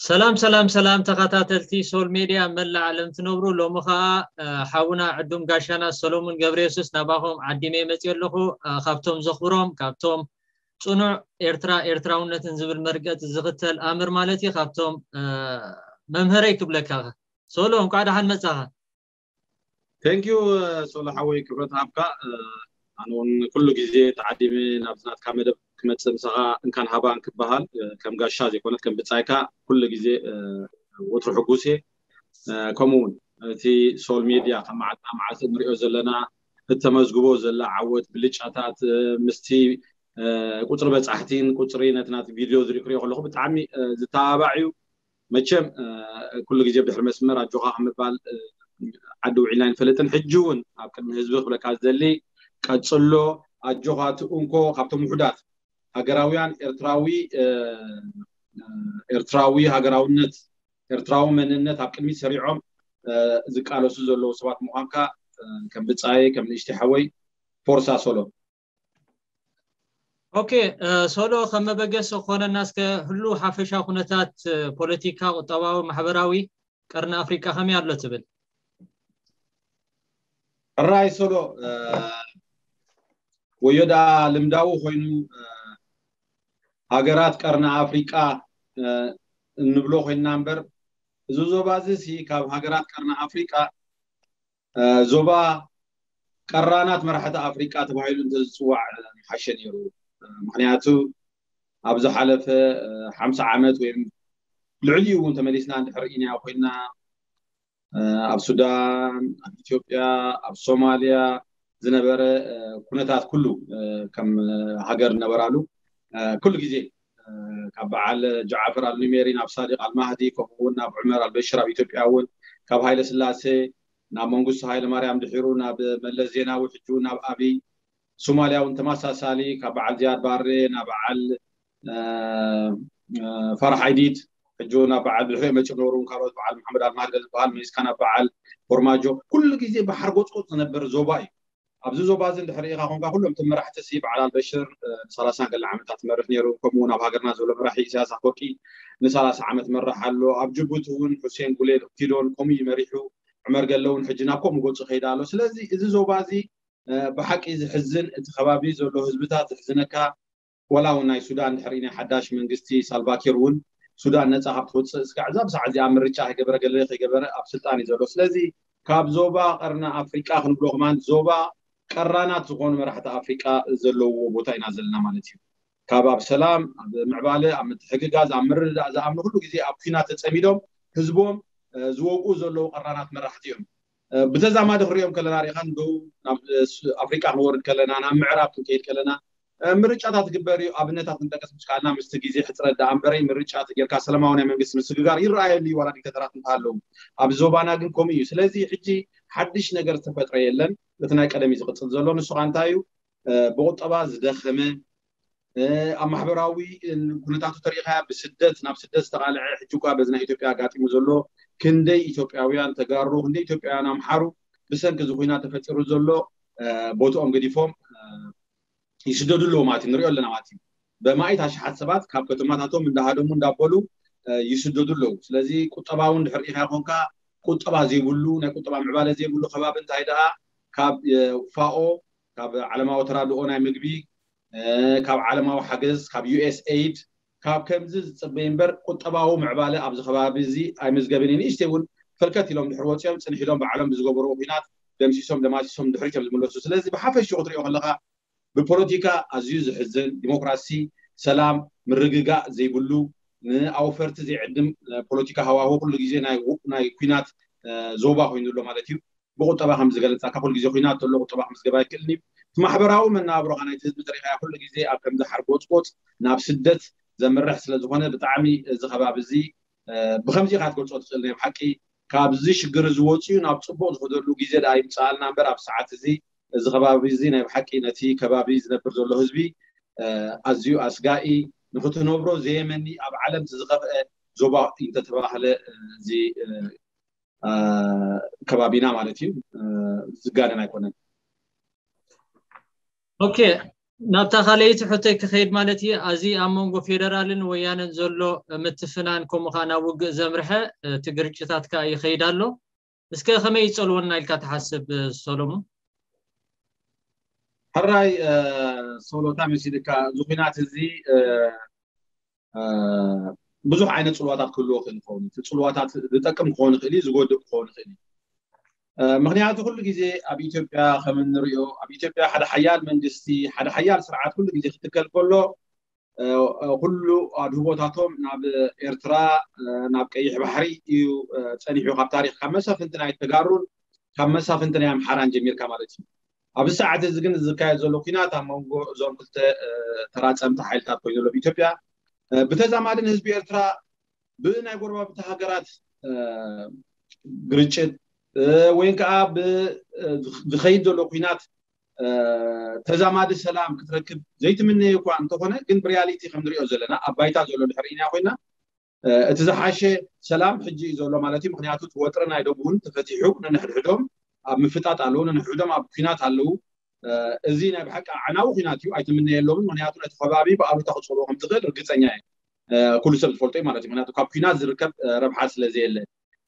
ሰላም ሰላም ሰላም፣ ተኸታተልቲ ሶል ሜድያ መላእ ዓለም ትነብሩ፣ ሎሚ ኸዓ ሓውና ዕዱም ጋሻና ሰሎሙን ገብረየሱስ ናባኹም ዓዲመ መፅእ ኣለኹ። ካብቶም ዘኽብሮም፣ ካብቶም ፅኑዕ ኤርትራ ኤርትራውነትን ዝብል መርገፂ ዝኽተል ኣምር ማለት እዩ፣ ካብቶም መምህረይ ክብለካ። ሶሎ፣ እንኳዕ ደሓን መፃኻ። Thank you። ሶሎ ሓወይ፣ ክብረት ሃብካ። ኣነ እውን ኩሉ ግዜ ተዓዲመ ናብዚ ናትካ መደብ ክመፅእ ምሳኻ እንካን ሃባን ክበሃል፣ ከም ጋሻ ዘይኮነት ከም ብፃይካ ኩሉ ግዜ ወትሩ ሕጉስ እየ። ከምኡ እውን እቲ ሶል ሜድያ ከም መዓልትና መዓልቲ እንሪኦ ዘለና እተመዝግቦ ዘላ ዓወት፣ ብልጫታት፣ ምስቲ ቁፅሪ በፃሕቲን ቁፅሪ ነቲ ናቲ ቪድዮ ዝሪኦ ከለኹ ብጣዕሚ ዝተባባዕ እዩ። መቸም ኩሉ ግዜ ብድሕሪ መስመር ኣጆኻ ከምባል ዓዲ ውዒልና ኣይንፈልጥን። ሕጂ እውን ኣብ ቅድሚ ህዝቢ ክብለካ ዝደሊ፣ ቀፅሎ፣ ኣጆኻ፣ እቲ እንኮ ካብቶም ውሑዳት ሃገራውያን ኤርትራዊ ኤርትራዊ ሃገራውነት፣ ኤርትራዊ መንነት ኣብ ቅድሚት ሰሪዖም ዝቃለሱ ዘለዉ ሰባት ምዃንካ ከም ብፃየ፣ ከም ንእሽተይ ሓወይ፣ ፎርሳ ሶሎ። ኦኬ፣ ሶሎ፣ ከም መበገሲ ክኾነና እስከ ህሉ ሓፈሻ ኩነታት ፖለቲካ፣ ቁጠባዊ፣ ማሕበራዊ ቀርኒ ኣፍሪቃ ከመይ ኣሎ ትብል? ሕራይ ሶሎ፣ ወዮ ደኣ ልምዳዊ ኮይኑ ሃገራት ቀርኒ ኣፍሪቃ እንብሎ ኮይንና እምበር፣ እዚ ዞባ እዚ ሲ ካብ ሃገራት ቀርኒ ኣፍሪቃ ዞባ ቀራናት መራሕቲ ኣፍሪቃ ተባሂሉ እንተዝፅዋዕ ምሓሸ ነይሩ። ምክንያቱ ኣብ ዝሓለፈ ሓምሳ ዓመት ወይ ልዕሊኡ እውን ተመሊስና እንድሕር ኢና ኮይንና፣ ኣብ ሱዳን፣ ኣብ ኢትዮጵያ፣ ኣብ ሶማልያ ዝነበረ ኩነታት ኩሉ ከም ሃገር ነበራሉ ኩሉ ግዜ ካብ በዓል ጃዕፈር ኣልኑሜሪ ናብ ሳዲቅ ኣልማህዲ፣ ከምኡ እውን ናብ ዑመር ኣልበሽር፣ ኣብ ኢትዮጵያ እውን ካብ ሃይለ ስላሴ ናብ መንግስቱ ሃይለ ማርያም፣ ድሒሩ ናብ መለስ ዜናዊ፣ ሕጂ እውን ናብ ኣብይ፣ ሶማልያ እውን ተመሳሳሊ ካብ በዓል ዝያድ ባሬ ናብ በዓል ፋራሕ ዓይዲድ፣ ሕጂ እውን ናብ በዓል ብድሕሪኦም መፂኦም ነበሩ፣ ካልኦት በዓል መሓመድ ኣልማህዲ ዝበሃል መሊስካ ናብ በዓል ፎርማጆ፣ ኩሉ ግዜ ብሓርጎፅጎፅ ዝነበር ዞባ እዩ። ኣብዚ ዞባ እዚ እንድሕር ኢኻ ኮንካ፣ ኩሎም እቶም መራሕቲ ሲ በዓል ኣልበሽር ንሰላሳን ገለ ዓመታት ትመርሕ ነይሩ። ከምኡ እውን ኣብ ሃገርና ዘሎ መራሒ ኢሳያስ ኣፈወርቂ ንሰላሳ ዓመት መራሕ ኣሎ። ኣብ ጅቡቲ እውን ሑሴን ጉሌድ ኦፕቲዶን ከምኡ እዩ መሪሑ። ዑመር ገለ እውን ሕጂ ናብ ከምኡ ገፁ ከይዳ ኣሎ። ስለዚ እዚ ዞባ እዚ ብሓቂ ዝሕዝን፣ እቲ ከባቢ ዘሎ ህዝብታት ዝሕዝነካ። ዋላ እውን ናይ ሱዳን ድሕሪ ናይ ሓዳሽ መንግስቲ ሳልቫኪር እውን ሱዳን ነፃ ካብ ትወፅእ እስካዕ እዛ ብሳዕ እዚኣ ምርጫ ከይገበረ ገለ ከይገበረ ኣብ ስልጣን እዩ ዘሎ። ስለዚ ካብ ዞባ ቀርኒ ኣፍሪቃ ክንብሎ ከማን ዞባ ቀራናት ዝኾኑ መራሕቲ ኣፍሪቃ ዘለውዎ ቦታ ኢና ዘለና ማለት እዩ። ካብ ኣብ ሰላም፣ ኣብ ምዕባለ፣ ኣብ ምትሕግጋዝ፣ ኣብ ምርድዳእ ዝኣምኑ ኩሉ ግዜ ኣብ ኲናት ተፀሚዶም ህዝቦም ዝወግኡ ዘለዉ ቀራናት መራሕቲ እዮም። ብተዛማዲ ክንሪኦም ከለና ሪኢኻ ንደቡብ፣ ናብ ኣፍሪቃ ክንወርድ ከለና፣ ናብ ምዕራብ ክንከይድ ከለና ምርጫታት ግበር እዩ። ኣብነታት ክንጠቅስ ምስ ካልና ምስቲ ግዜ ሕፅረት ደኣ እምበረይ ምርጫ ተጌርካ ሰላማዊ ናይ መንግስቲ ምስግጋር ይረኣየሉ እዩ፣ ዋላ ዲክታተራት እንተሃለዉ። ኣብ ዞባና ግን ከምኡ እዩ። ስለዚ ሕጂ ሓድሽ ነገር ዝተፈጥረ የለን። እቲ ናይ ቀደም እዩ ዝቕፅል ዘሎ። ንሱ ከዓ እንታይ እዩ? ብቁጠባ ዝደኸመ፣ ኣብ ማሕበራዊ ኩነታቱ ተሪኢኻያ ብስደት ናብ ስደት ዝተቓልዐ፣ ሕጂ እኳ በዚ ናይ ኢትዮጵያ ኣጋጢሙ ዘሎ ክንደይ ኢትዮጵያውያን ተጋሩ፣ ክንደይ ኢትዮጵያውያን ኣምሓሩ ብሰንኪ እዚ ኩናት ተፈጢሩ ዘሎ ቦትኦም ገዲፎም ይስደዱ ኣለዉ ማለት እዩ፣ ንሪኦ ኣለና ማለት እዩ። በማኢት ኣሽሓት ሰባት ካብ ከተማታቶም እንዳሃደሙ እንዳበሉ ይስደዱ ኣለዉ። ስለዚ ቁጠባዊ እውን ድሕር ኢኻ ኮንካ ቁጠባ ዘይብሉ፣ ናይ ቁጠባ ምዕባለ ዘይብሉ ከባቢ እንታይ ደኣ ካብ ፋኦ፣ ካብ ዓለማዊ ተራድኦ ናይ ምግቢ፣ ካብ ዓለማዊ ሓገዝ፣ ካብ ዩኤስኤይድ፣ ካብ ከምዚ ዝፅበይ እምበር ቁጠባዊ ምዕባለ ኣብዚ ከባቢ እዚ ኣይምዝገብን እዩ። ንእሽተይ እውን ፈልከት ኢሎም ድሕር ወፂኦም ፅንሕ ኢሎም ባዕሎም ብዝገበርዎ ኩናት ደምሲሶም ደማሲሶም ድሕሪት እዮም ዝምለሱ። ስለዚ ብሓፈሽኡ ክትሪኦ ከለካ ብፖለቲካ ኣዝዩ ዝሕዝን፣ ዲሞክራሲ፣ ሰላም፣ ምርግጋእ ዘይብሉ፣ ንኣውፈርቲ ዘይዕድም ፖለቲካ ሃዋሁ ኩሉ ግዜ ናይ ኩናት ዞባ ኮይኑ ኣሎ ማለት እዩ። ብቁጠባ ከም ዝገለፃካ ኩሉ ግዜ ኩናት ተሎ ቁጠባ ከም ዝገባ ኣይክእልን እዩ። እቲ ማሕበራዊ መናብሮኻ ናይቲ ህዝቢ ተሪኻያ ኩሉ ግዜ ኣብ ከምዚ ሓርጎፅጎፅ ናብ ስደት ዘምርሕ ስለዝኾነ ብጣዕሚ እዚ ከባቢ እዚ ብከምዚ ኢኻ ክትገልፆ ትኽእል። ናይ ብሓቂ ካብዚ ሽግር እዚ ወፂኡ ናብ ፅቡቕ ዝኸደሉ ግዜ ደኣ ይምፅኣልና እምበር ኣብ ሰዓት እዚ እዚ ከባቢ እዚ ናይ ብሓቂ ነቲ ከባቢ ዝነብር ዘሎ ህዝቢ ኣዝዩ ኣስጋኢ፣ ንክትነብሮ ዘየመኒ ኣብ ዓለም ዝኸፍአ ዞባ እንተተባህለ እዚ ከባቢና ማለት እዩ ዝጋነን ኣይኮነን። ኦኬ፣ ናብታ ካልኣይቲ ሕቶይ ክኸይድ ማለት እዩ። ኣዚ ኣብ መንጎ ፌደራልን ወያነን ዘሎ ምትፍናን፣ ከምኡ ኸኣ ናብ ውግእ ዘምርሐ እቲ ግርጭታት ከኣ ይኸይድ ኣሎ። እስከ ከመይ ይጸልወና ኢልካ ትሓስብ ሰሎሞን? ሕራይ ሶሎታ መሲልካ፣ እዚ ኹናት እዚ ብዙሕ ዓይነት ጽልዋታት ክህልዎ ክእል ይኸውን። እቲ ጽልዋታት ዝጠቅም ክኸውን ይኽእል እዩ፣ ዝጎድእ ክኸውን ይኽእል እዩ። ምክንያቱ ኩሉ ግዜ ኣብ ኢትዮጵያ ከም እንሪኦ፣ ኣብ ኢትዮጵያ ሓደ ሓያል መንግስቲ፣ ሓደ ሓያል ስርዓት ኩሉ ግዜ ክትከል ከሎ፣ ኩሉ ኣድህቦታቶም ናብ ኤርትራ፣ ናብ ቀይሕ ባሕሪ እዩ ጸኒሑ። ካብ ታሪኽ፣ ካብ መሳፍንቲ ናይ ተጋሩን ካብ መሳፍንቲ ናይ ኣምሓራን ጀሚርካ ማለት እዩ። ኣብዚ ሰዓት እዚ ግን ዝካየድ ዘሎ ኲናት ኣብ መንጎ እዞም ክልተ ተራጸምቲ ሓይልታት ኮይኑ ዘሎ ኢትዮጵያ፣ ብተዛማድን ህዝቢ ኤርትራ ብናይ ጎረባብቲ ሃገራት ግርጭት ወይ ከዓ ዝኸይድ ዘሎ ኲናት ተዛማዲ ሰላም ክትረክብ ዘይትምነየ እኳ እንተኾነ፣ ግን ብሪያሊቲ ከም ንሪኦ ዘለና ኣብ ባይታ ዘሎ ድሕሪ ኢና ኮይና እቲ ዝሓሸ ሰላም ሕጂ እዩ ዘሎ ማለት እዩ። ምክንያቱ እቲ ወጥሪ ናይ ደቡብን ተፈቲሑ ነንሕድሕዶም ኣብ ምፍጣጥ ኣለዉ፣ ነንሕድሕዶም ኣብ ኲናት ኣለዉ። እዚ ናይ ብሓቂ ኣዕናዊ ኲናት እዩ፣ ኣይትምነየሎምን። ምክንያቱ ነቲ ከባቢ ብኣሉታ ክፀልዎ ከም ትኽእል ርግፀኛ እየ። ኩሉ ሰብ ዝፈልጦ እዩ ማለት እዩ። ምክንያቱ ካብ ኲናት ዝርከብ ረብሓ ስለ ዘየለ፣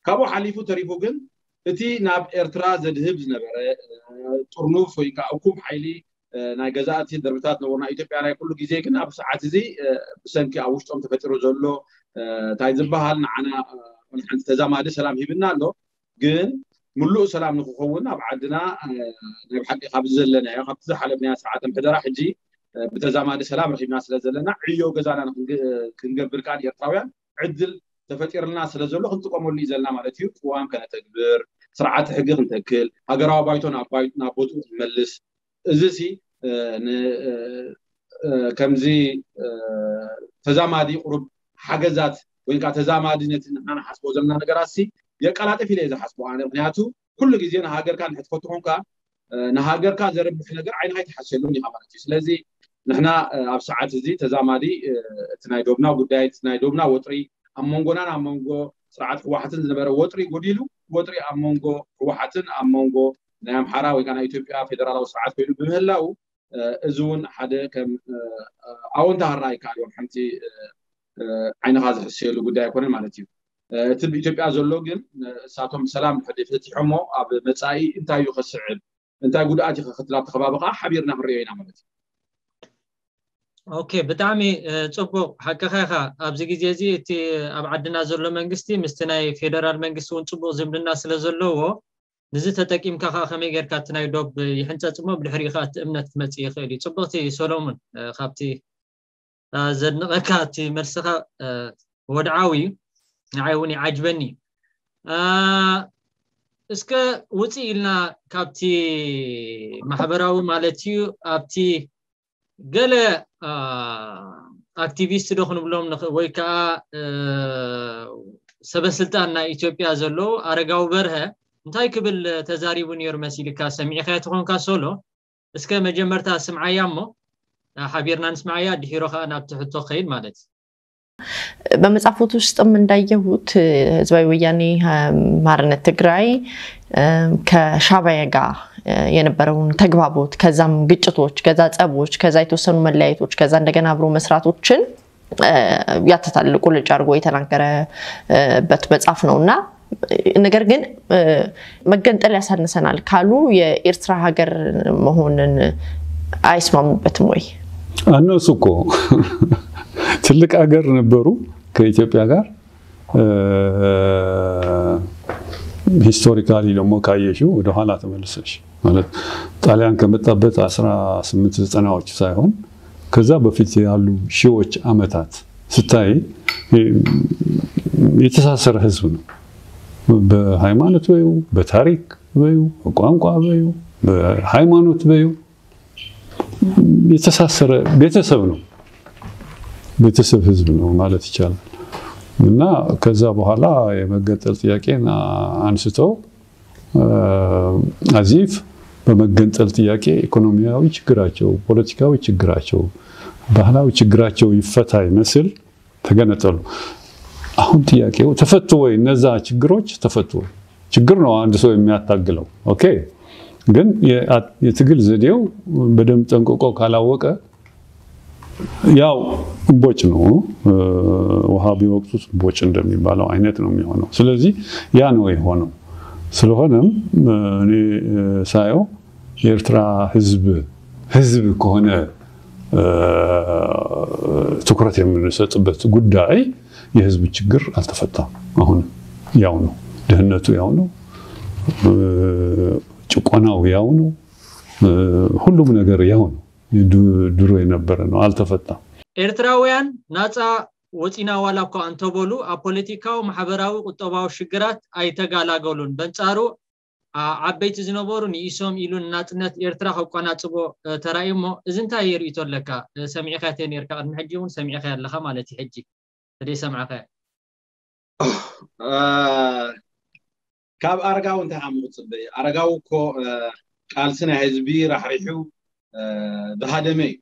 ካብኡ ሓሊፉ ተሪፉ ግን እቲ ናብ ኤርትራ ዘድህብ ዝነበረ ጥርኑፍ ወይ ከዓ እኩብ ሓይሊ ናይ ገዛእቲ ድርብታት ነበሩ ናይ ኢትዮጵያ ናይ ኩሉ ግዜ፣ ግን ኣብ ሰዓት እዚ ብሰንኪ ኣብ ውሽጦም ተፈጢሩ ዘሎ እንታይ ዝበሃል ንዓና ሓንቲ ተዛማዲ ሰላም ሂብና ኣሎ። ግን ምሉእ ሰላም ንክኸውን ኣብ ዓድና ናይ ብሓቂ ካብዚ ዘለናዮ ካብቲ ዝሓለፍናዮ ስርዓተ ምሕደራ ሕጂ ብተዛማዲ ሰላም ረኺብና ስለ ዘለና ዕዮ ገዛና ክንገብር ከኣ ኤርትራውያን ዕድል ተፈጢርልና ስለ ዘሎ ክንጥቀመሉ እዩ ዘለና ማለት እዩ። ቅዋም ከነተግብር፣ ስርዓተ ሕጊ ክንተክል፣ ሃገራዊ ባይቶ ናብ ቦትኡ ክንመልስ፣ እዚ ሲ ከምዚ ተዛማዲ ቁሩብ ሓገዛት ወይ ከዓ ተዛማዲ ነቲ ንሕና ንሓስቦ ዘለና ነገራት ሲ የቀላጥፍ ኢለ እየ ዝሓስቦ ኣነ። ምክንያቱ ኩሉ ግዜ ንሃገርካ ንሕትፈቱ ኮንካ ንሃገርካ ዘርብሕ ነገር ዓይንኻ ኣይትሓስየሉን ኢኻ ማለት እዩ። ስለዚ ንሕና ኣብ ሰዓት እዚ ተዛማዲ እቲ ናይ ዶብና ጉዳይ፣ እቲ ናይ ዶብና ወጥሪ፣ ኣብ መንጎናን ኣብ መንጎ ስርዓት ህወሓትን ዝነበረ ወጥሪ ጎዲሉ፣ ወጥሪ ኣብ መንጎ ህወሓትን ኣብ መንጎ ናይ ኣምሓራ ወይ ከዓ ናይ ኢትዮጵያ ፌደራላዊ ስርዓት ኮይኑ ብምህላው፣ እዚ እውን ሓደ ከም ኣወንታ ክረኣ ይከኣል እዮም። ሓንቲ ዓይንኻ ዝሕስየሉ ጉዳይ ኣይኮነን ማለት እዩ። እቲ ብኢትዮጵያ ዘሎ ግን እሳቶም ሰላም ድሕሪ ፈቲሖሞ ኣብ መጻኢ እንታይ እዩ ከስዕብ፣ እንታይ ጉድኣት ይኸክትል ኣብቲ ከባቢ ከዓ ሓቢርና ክንሪኦ ኢና ማለት እዩ። ኦኬ፣ ብጣዕሚ ጽቡቕ፣ ሓቅኻ ኢኻ። ኣብዚ ግዜ እዚ እቲ ኣብ ዓድና ዘሎ መንግስቲ ምስቲ ናይ ፌደራል መንግስቲ እውን ጽቡቕ ዝምድና ስለ ዘለዎ፣ ንዚ ተጠቂምካ ከዓ ከመይ ጌርካ እቲ ናይ ዶብ ይሕንጸጽ እሞ ብድሕሪኡ ከዓ እቲ እምነት ክመጽእ ይኽእል እዩ። ጽቡቕቲ ሶሎሙን፣ ካብቲ ዘድንቐካ እቲ መልስኻ ወድዓዊ እዩ፣ ንዓይ እውን ይዓጅበኒ። እስከ ውፅእ ኢልና ካብቲ ማሕበራዊ ማለት እዩ፣ ኣብቲ ገለ ኣክቲቪስት ዶ ክንብሎም ወይ ከዓ ሰበስልጣን ናይ ኢትዮጵያ ዘለዉ ኣረጋዊ በርሀ እንታይ ክብል ተዛሪቡ ነይሩ መሲልካ? ሰሚዕካዮ ተኾንካ ሶሎ፣ እስከ መጀመርታ ስምዓያ እሞ ሓቢርና ንስምዓያ፣ ድሒሮ ከዓ ናብቲ ሕቶ ክኸይድ ማለት እዩ። በመጽሐፎት ውስጥም እንዳየሁት ህዝባዊ ወያኔ ሓርነት ትግራይ ከሻዕቢያ ጋር የነበረውን ተግባቦት፣ ከዛም ግጭቶች፣ ከዛ ጸቦች፣ ከዛ የተወሰኑ መለያየቶች፣ ከዛ እንደገና አብሮ መስራቶችን ያትታል። ቁልጭ አድርጎ የተናገረበት መጽሐፍ ነውና፣ ነገር ግን መገንጠል ያሳንሰናል ካሉ የኤርትራ ሀገር መሆንን አይስማሙበትም ወይ? እነሱ እኮ ትልቅ ሀገር ነበሩ ከኢትዮጵያ ጋር። ሂስቶሪካሊ ደግሞ ካየሽው ወደኋላ ተመልሰሽ ማለት ጣሊያን ከመጣበት አስራ ስምንት ዘጠናዎች ሳይሆን ከዛ በፊት ያሉ ሺዎች አመታት ስታይ የተሳሰረ ህዝብ ነው። በሃይማኖት በዩ፣ በታሪክ በዩ፣ በቋንቋ በዩ፣ በሃይማኖት በዩ የተሳሰረ ቤተሰብ ነው። ቤተሰብ ህዝብ ነው ማለት ይቻላል። እና ከዛ በኋላ የመገንጠል ጥያቄን አንስተው አዚፍ በመገንጠል ጥያቄ ኢኮኖሚያዊ ችግራቸው፣ ፖለቲካዊ ችግራቸው፣ ባህላዊ ችግራቸው ይፈታ ይመስል ተገነጠሉ። አሁን ጥያቄው ተፈቱ ወይ? እነዛ ችግሮች ተፈቱ ወይ? ችግር ነው አንድ ሰው የሚያታግለው። ኦኬ፣ ግን የትግል ዘዴው በደንብ ጠንቅቆ ካላወቀ ያው እምቦጭ ነው። ውሃ ቢወቅጡት እምቦጭ እንደሚባለው አይነት ነው የሚሆነው። ስለዚህ ያ ነው የሆነው። ስለሆነም እኔ ሳየው የኤርትራ ህዝብ ህዝብ ከሆነ ትኩረት የምንሰጥበት ጉዳይ የህዝብ ችግር አልተፈታም። አሁን ያው ነው፣ ድህነቱ ያው ነው፣ ጭቆናው ያው ነው፣ ሁሉም ነገር ያው ነው፣ ድሮ የነበረ ነው፣ አልተፈታም። ኤርትራውያን ናጻ ወጺና ዋላ እኳ እንተበሉ ኣብ ፖለቲካዊ፣ ማሕበራዊ፣ ቁጠባዊ ሽግራት ኣይተጋላገሉን። በንጻሩ ዓበይቲ ዝነበሩ ንኢሶም ኢሉ ንናጽነት ኤርትራ ከቋናጽቦ ተራእዩ። እሞ እዚ እንታይ የርእይቶ ኣለካ? ሰሚዕካ ተነርካ ቅድሚ ሕጂ እውን ሰሚዕካ ኣለካ ማለት እዩ። ሕጂ ተደይ ሰምዓካ ካብ ኣረጋዊ እንታይ ዓሚ ክጽበ? ኣረጋዊ እኮ ቃልሲ ናይ ህዝቢ ራሕሪሑ ዝሃደመ እዩ።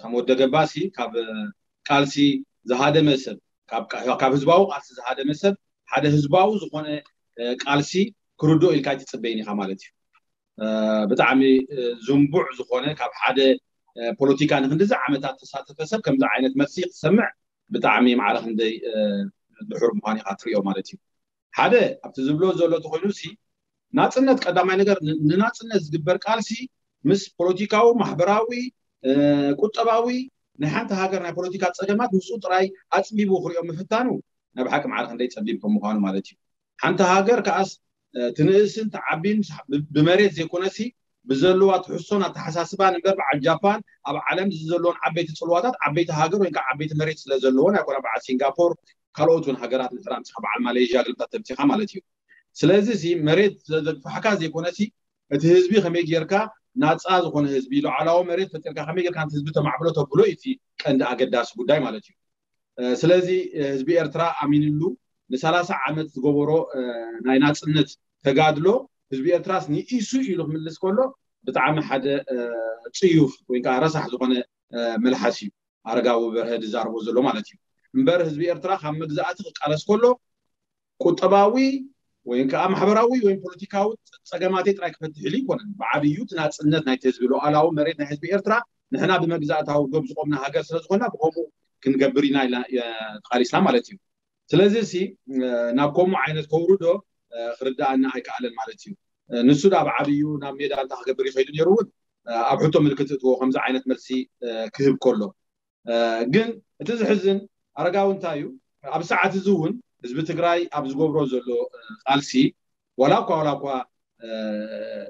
ከም ወደ ገባሲ ካብ ቃልሲ ዝሃደመ ሰብ፣ ካብ ህዝባዊ ቃልሲ ዝሃደመ ሰብ ሓደ ህዝባዊ ዝኾነ ቃልሲ ክርድኦ ኢልካ ኣይትጽበይን ኢኻ ማለት እዩ። ብጣዕሚ ዝንቡዕ ዝኾነ ካብ ሓደ ፖለቲካ ንክንድዚ ዓመታት ተሳተፈ ሰብ ከምዚ ዓይነት መልሲ ክትሰምዕ ብጣዕሚ ማዕረ ክንደይ ድሑር ምዃን ኢኻ ትሪኦ ማለት እዩ። ሓደ ኣብቲ ዝብሎ ዘሎ ተኮይኑ ሲ ናጽነት ቀዳማይ ነገር ንናጽነት ዝግበር ቃልሲ ምስ ፖለቲካዊ፣ ማሕበራዊ፣ ቁጠባዊ ናይ ሓንቲ ሃገር ናይ ፖለቲካ ጸገማት ምስኡ ጥራይ ኣጽቢቡ ክሪኦ ምፍታኑ ናይ ብሓቂ ማዕረ ክንደይ ጸቢብ ከም ምዃኑ ማለት እዩ። ሓንቲ ሃገር ከኣስ ትንእስን ትዓቢን ብመሬት ዘይኮነሲ ብዘለዋ ትሕሶን ኣተሓሳስባን እምበር በዓል ጃፓን ኣብ ዓለም ዘለዎን ዓበይቲ ጽልዋታት ዓበይቲ ሃገር ወይ ከዓ ዓበይቲ መሬት ስለ ዘለዎን ኣይኮነ በዓል ሲንጋፖር ካልኦት እውን ሃገራት ንሕራምስኻ በዓል ማሌዥያ ግልብታት ተምሲኻ ማለት እዩ። ስለዚ ሲ መሬት ዘግፋሕካ ዘይኮነሲ እቲ ህዝቢ ከመይ ጌርካ ናፃ ዝኾነ ህዝቢ ሉዓላዊ መሬት ፈጢርካ ከመይ ጌርካ ነቲ ህዝቢ ተማዕብሎ ተብሎ እዩ እቲ ቀንዲ ኣገዳሲ ጉዳይ ማለት እዩ። ስለዚ ህዝቢ ኤርትራ ኣሚንሉ ንሰላሳ ዓመት ዝገበሮ ናይ ናፅነት ተጋድሎ ህዝቢ ኤርትራስ ንኢሱ ኢሉ ክምልስ ከሎ ብጣዕሚ ሓደ ፅዩፍ ወይ ከዓ ረሳሕ ዝኾነ መልሓስ እዩ ኣረጋዊ በርሀ ዝዛረቦ ዘሎ ማለት እዩ። እምበር ህዝቢ ኤርትራ ካብ መግዛእቲ ክቃለስ ከሎ ቁጠባዊ ወይ ከዓ ማሕበራዊ ወይ ፖለቲካዊ ፀገማተይ ጥራይ ክፈትሕ ኢሉ ይኮነን። ብዓብዩ እቲ ናፅነት ናይቲ ህዝቢ ሉዓላዊ መሬት ናይ ህዝቢ ኤርትራ ንሕና ብመግዛእታዊ ዶብ ዝቆምና ሃገር ስለዝኮና ብከምኡ ክንገብር ኢና ኢልና ተቃሊስና ማለት እዩ። ስለዚ ሲ ናብ ከምኡ ዓይነት ከውርዶ ክርዳኣና ኣይከኣለን ማለት እዩ። ንሱ ዳ ብዓብዩ ናብ ሜዳ እንታይ ክገብር ይኸይዱ ነይሩ እውን ኣብ ሕቶ ምልክት እትዎ ከምዚ ዓይነት መልሲ ክህብ ከሎ ግን እቲ ዝሕዝን ኣረጋዊ እንታይ እዩ ኣብ ሰዓት እዚ እውን ህዝቢ ትግራይ ኣብ ዝገብሮ ዘሎ ቃልሲ ዋላ እኳ ዋላ እኳ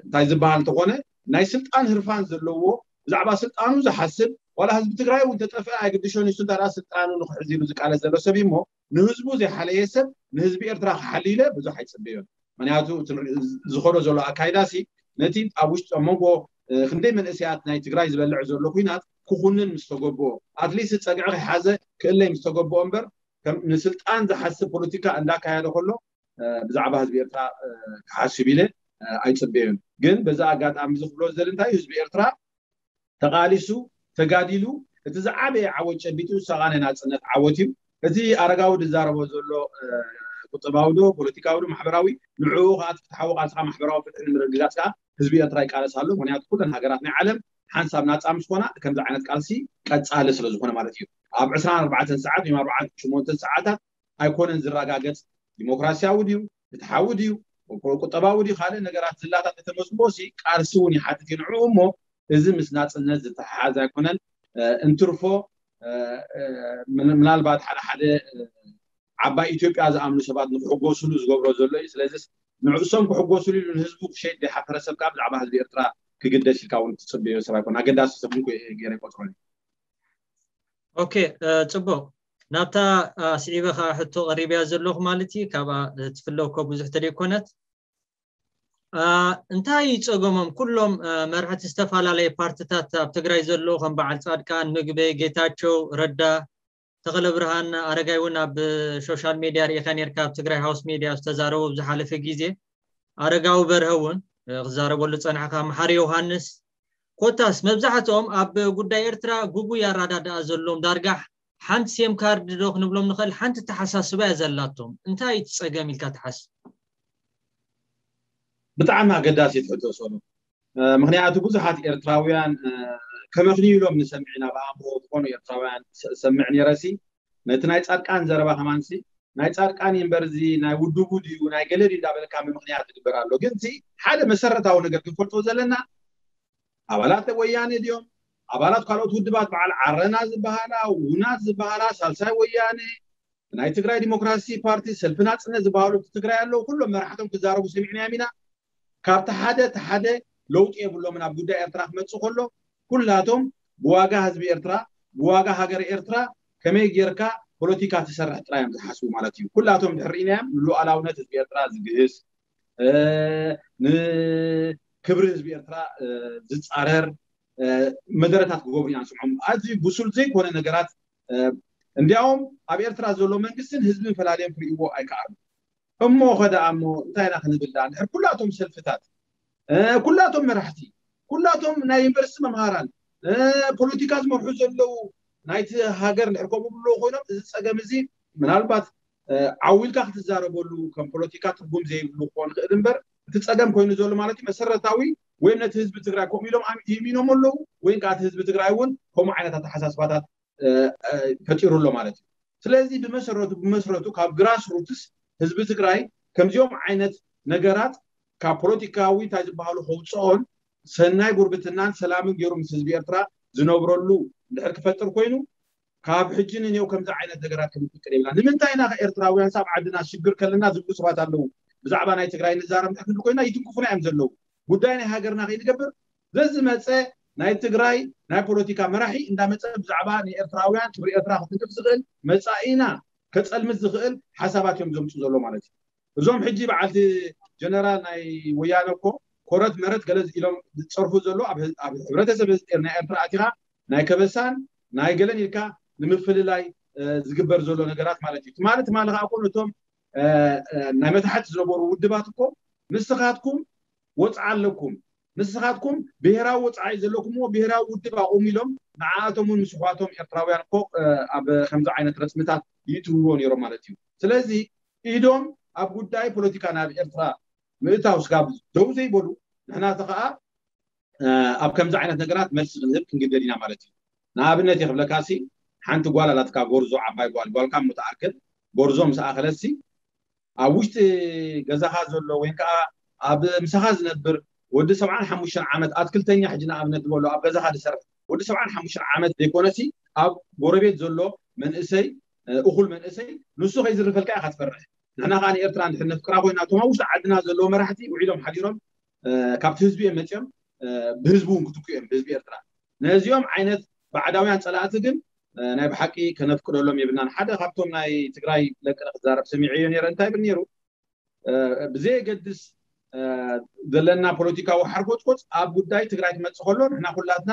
እንታይ ዝበሃል እንተኾነ ናይ ስልጣን ህርፋን ዘለዎ ብዛዕባ ስልጣኑ ዝሓስብ ዋላ ህዝቢ ትግራይ እውን ተጠፍአ ኣይግድሾ ንሱ እንታ ስልጣኑ ንክሕዝ ኢሉ ዝቃለስ ዘሎ ሰብ እሞ ንህዝቡ ዘይሓለየ ሰብ ንህዝቢ ኤርትራ ክሓሊ ኢለ ብዙሕ ኣይፅበዮን። ምክንያቱ ዝኸዶ ዘሎ ኣካይዳ ሲ ነቲ ኣብ ውሽጢ ኣብ መንጎ ክንደይ መንእሰያት ናይ ትግራይ ዝበልዕ ዘሎ ኩናት ክኹንን ምስ ተገብኦ ኣትሊስት ፀግዒ ከይሓዘ ክእለይ ምስ ተገብኦ እምበር ንስልጣን ዝሓስብ ፖለቲካ እንዳካየደ ከሎ ብዛዕባ ህዝቢ ኤርትራ ክሓስብ ኢለ ኣይፅበዮን። ግን በዚ ኣጋጣሚ እዚ ክብሎ ዝደሊ እንታይ ህዝቢ ኤርትራ ተቃሊሱ ተጋዲሉ እቲ ዝዓበየ ዓወት ጨቢጡ ሰቃ ናይ ናፅነት ዓወት እዩ። እቲ ኣረጋዊ ዝዛረቦ ዘሎ ቁጠባዊ ዶ ፖለቲካዊ ዶ ማሕበራዊ ንዕኡ ከዓ ፍትሓዊ ቃልስካ ማሕበራዊ ፍትሒ ንምርግጋፅ ከዓ ህዝቢ ኤርትራ ይቃለስ ኣሎ። ምክንያቱ ኩለን ሃገራት ናይ ዓለም ሓንሳብ ናፃ ምስ ኮና ከምዚ ዓይነት ቃልሲ ቀፃሊ ስለዝኮነ ማለት እዩ። ኣብ ዕስራን ኣርባዕተን ሰዓት ወይ ኣርባዓን ሸሞንተን ሰዓታት ኣይኮነን ዝረጋገፅ ዲሞክራሲያዊ ድዩ ፍትሓዊ ድዩ ቁጠባዊ ድዩ ካልእ ነገራት ዝላታት ተተመስሞ ቃልሲ እውን ይሓትት እዩ ንዕኡ እሞ እዚ ምስ ናፅነት ዝተሓሓዝ ኣይኮነን። እንትርፎ ምናልባት ሓደ ሓደ ዓባይ ኢትዮጵያ ዝኣምኑ ሰባት ንክሕጎስሉ ዝገብሮ ዘሎ እዩ። ስለዚ ንዕሶም ክሕጎስሉ ኢሉ ንህዝቡ ክሸይድ ዘይሓፈረ ሰብ ከዓ ብዛዕባ ህዝቢ ኤርትራ ክግደስ ኢልካ እውን ትፅበዮ ሰብ ኣይኮን። ኣገዳሲ ሰብ እውን ገይረ ይቆፅሮ። ኦኬ፣ ፅቡቅ። ናብታ ስዒበ ከዓ ሕቶ ቀሪብያ ዘለኹ ማለት እዩ። ካብኣ ትፍለኮ ብዙሕ ተደይኮነት እንታይ ጸገሞም? ኩሎም መርሕቲ ዝተፈላለየ ፓርትታት ኣብ ትግራይ ዘለዉ ከም በዓል ጻድቃን፣ ምግበይ፣ ጌታቸው ረዳ፣ ተኽለ ብርሃን ኣረጋይ እውን ኣብ ሶሻል ሜድያ ርኢኻ ነርካ ኣብ ትግራይ ሃውስ ሜድያ ዝተዛረቡ ኣብ ዝሓለፈ ግዜ ኣረጋዊ በርሀ እውን ክዛረበሉ ዝጸንሐ ካብ መሓሪ ዮሃንስ ኮታስ መብዛሕትኦም ኣብ ጉዳይ ኤርትራ ጉጉይ ኣራዳድኣ ዘለዎም ዳርጋ ሓንቲ ሴም ካርድ ዶ ክንብሎም ንኽእል ሓንቲ ተሓሳስባ እያ ዘላቶም እንታይ እቲ ጸገም ኢልካ ትሓስብ? ብጣዕሚ ኣገዳሲት ሕቶ ሰሉ ምክንያቱ ብዙሓት ኤርትራውያን ከመኽንዩ ኢሎም ንሰምዕ ኢና። ብኣእምሮ ዝኾኑ ኤርትራውያን ሰምዕ ነረሲ ነቲ ናይ ፃድቃን ዘረባ ከማንሲ ናይ ፃድቃን እምበር እዚ ናይ ውድቡ ድዩ ናይ ገለ ድዩ እንዳበልካ ምክንያት ዝግበር ኣሎ። ግን እቲ ሓደ መሰረታዊ ነገር ክንፈልጦ ዘለና ኣባላት ወያነ ድዮም፣ ኣባላት ካልኦት ውድባት በዓል ዓረና ዝበሃላ፣ ውናት ዝበሃላ፣ ሳልሳይ ወያነ፣ ናይ ትግራይ ዲሞክራሲ ፓርቲ፣ ሰልፊ ናፅነት ዝበሃሉ ትግራይ ኣለዉ። ኩሎም መራሕቶም ክዛረቡ ሰሚዕናዮም ኢና። ካብቲ ሓደ እቲ ሓደ ለውጢ የብሎምን። ኣብ ጉዳይ ኤርትራ ክመፅእ ከሎ ኩላቶም ብዋጋ ህዝቢ ኤርትራ፣ ብዋጋ ሃገር ኤርትራ ከመይ ጌርካ ፖለቲካ ትሰርሕ ጥራይ እዮም ዝሓስቡ ማለት እዩ። ኩላቶም ድሕር ኢናዮም ንሉዓላውነት ህዝቢ ኤርትራ ዝግህስ፣ ንክብሪ ህዝቢ ኤርትራ ዝፃረር መደረታት ክገብሩ ኢና ንስምዖም። ኣዝዩ ብሱል ዘይኮነ ነገራት። እንዲያውም ኣብ ኤርትራ ዘሎ መንግስትን ህዝብን ፈላልዮም ክርእይዎ ኣይከኣሉ። እሞ ኸ ደኣ እሞ እንታይ ኢና ክንብል ደኣ? እንድሕር ኩላቶም ሰልፍታት፣ ኩላቶም መራሕቲ፣ ኩላቶም ናይ ዩኒቨርሲቲ መምሃራን፣ ፖለቲካ ዝመርሑ ዘለዉ ናይቲ ሃገር እንድሕር ከምኡ ብሎ ኮይኖም፣ እዚ ፀገም እዚ ምናልባት ዓዊልካ ክትዛረበሉ ከም ፖለቲካ ትርጉም ዘይብሉ ክኾን ይኽእል እምበር፣ እቲ ፀገም ኮይኑ ዘሎ ማለት እዩ መሰረታዊ ወይም ነቲ ህዝቢ ትግራይ ከምኡ ኢሎም ኣም- ይእሚኖም ኣለዉ ወይም ከዓ እቲ ህዝቢ ትግራይ እውን ከምኡ ዓይነት ኣተሓሳስባታት ፈጢሩ ኣሎ ማለት እዩ። ስለዚ ብመሰረቱ ብመስረቱ ካብ ግራስ ሩትስ ህዝቢ ትግራይ ከምዚኦም ዓይነት ነገራት ካብ ፖለቲካዊ እንታይ ዝበሃሉ ከውፅኦን ሰናይ ጉርብትናን ሰላምን ገይሩ ምስ ህዝቢ ኤርትራ ዝነብረሉ እንድሕር ክፈጥር ኮይኑ ካብ ሕጂ ንኔው ከምዚ ዓይነት ነገራት ክንፍቅድ የብልና። ንምንታይ ኢና ኤርትራውያን ሳብ ዓድና ሽግር ከለና ዝብሉ ሰባት ኣለዉ። ብዛዕባ ናይ ትግራይ ንዛረብ እንድሕር ክንብል ኮይና ይትንክፉና እዮም ዘለዉ። ጉዳይ ናይ ሃገርና ከይንገብር ዘዝመፀ ናይ ትግራይ ናይ ፖለቲካ መራሒ እንዳመፀ ብዛዕባ ንኤርትራውያን ክብሪ ኤርትራ ክትንክፍ ዝኽእል መፃኢና ከፀልምት ዝኽእል ሓሳባት እዮም ዘምፁ ዘሎ ማለት እዩ። እዞም ሕጂ በዓልቲ ጀነራል ናይ ወያነ እኮ ኮረት መረት ገለ ኢሎም ዝፀርፉ ዘሎ ኣብ ህብረተሰብ ናይ ኤርትራ ኣቲኻ ናይ ከበሳን ናይ ገለን ኢልካ ንምፍልላይ ዝግበር ዘሎ ነገራት ማለት እዩ። ትማሊ ትማሊ ከዓ እኮ ነቶም ናይ መታሕት ዝነበሩ ውድባት እኮ ንስኻትኩም ወፅዓ ኣለኩም፣ ንስኻትኩም ብሄራዊ ወፅዓ እዩ ዘለኩምዎ፣ ብሄራዊ ውድብ ኣቑሙ ኢሎም ንዓኣቶም እውን ምስ ኣሕዋቶም ኤርትራውያን እኮ ኣብ ከምዚ ዓይነት ረፅምታት ይእትውዎ ነይሮም ማለት እዩ። ስለዚ ኢዶም ኣብ ጉዳይ ፖለቲካ ናብ ኤርትራ ምእታው ስጋብ ደው ዘይበሉ ንሕና እቲ ከዓ ኣብ ከምዚ ዓይነት ነገራት መልሲ ክንህብ ክንግደድ ኢና ማለት እዩ። ንኣብነት እየ ክብለካ ሲ ሓንቲ ጓል ኣላትካ ጎርዞ ዓባይ ጓል ጓልካ ምትኣክል ጎርዞ ምስ ኣኸለሲ ኣብ ውሽጢ ገዛኻ ዘሎ ወይ ከዓ ኣብ ምሳኻ ዝነብር ወዲ ሰብዓን ሓሙሽተን ዓመት ኣትክልተኛ ሕጂ ንኣብነት ዝበሎ ኣብ ገዛኻ ዝሰርሕ ወዲ ሰብዓን ሓሙሽተን ዓመት ዘይኮነሲ ኣብ ጎረቤት ዘሎ መንእሰይ እኹል መንእሰይ ንሱ ከይዝርፈልካ ኢኻ ትፈርሕ። ንሕና ከዓ ንኤርትራ እንድሕር ነፍቅራ ኮይና እቶም ኣብ ውሽጢ ዓድና ዘለዉ መራሕቲ ውዒሎም ሓዲሮም ካብቲ ህዝቢ እዮም መፅኦም ብህዝቢ እውን ክትኩ እዮም ብህዝቢ ኤርትራ። ነዚኦም ዓይነት ባዕዳውያን ፀላእቲ ግን ናይ ብሓቂ ከነፍቅደሎም የብልናን። ሓደ ካብቶም ናይ ትግራይ ለቅነ ክዛረብ ሰሚዐዮ ነይረ እንታይ ይብል ነይሩ ብዘየገድስ ዘለና ፖለቲካዊ ሓርጎፅጎፅ ኣብ ጉዳይ ትግራይ ክመፅእ ከሎ ንሕና ኩላትና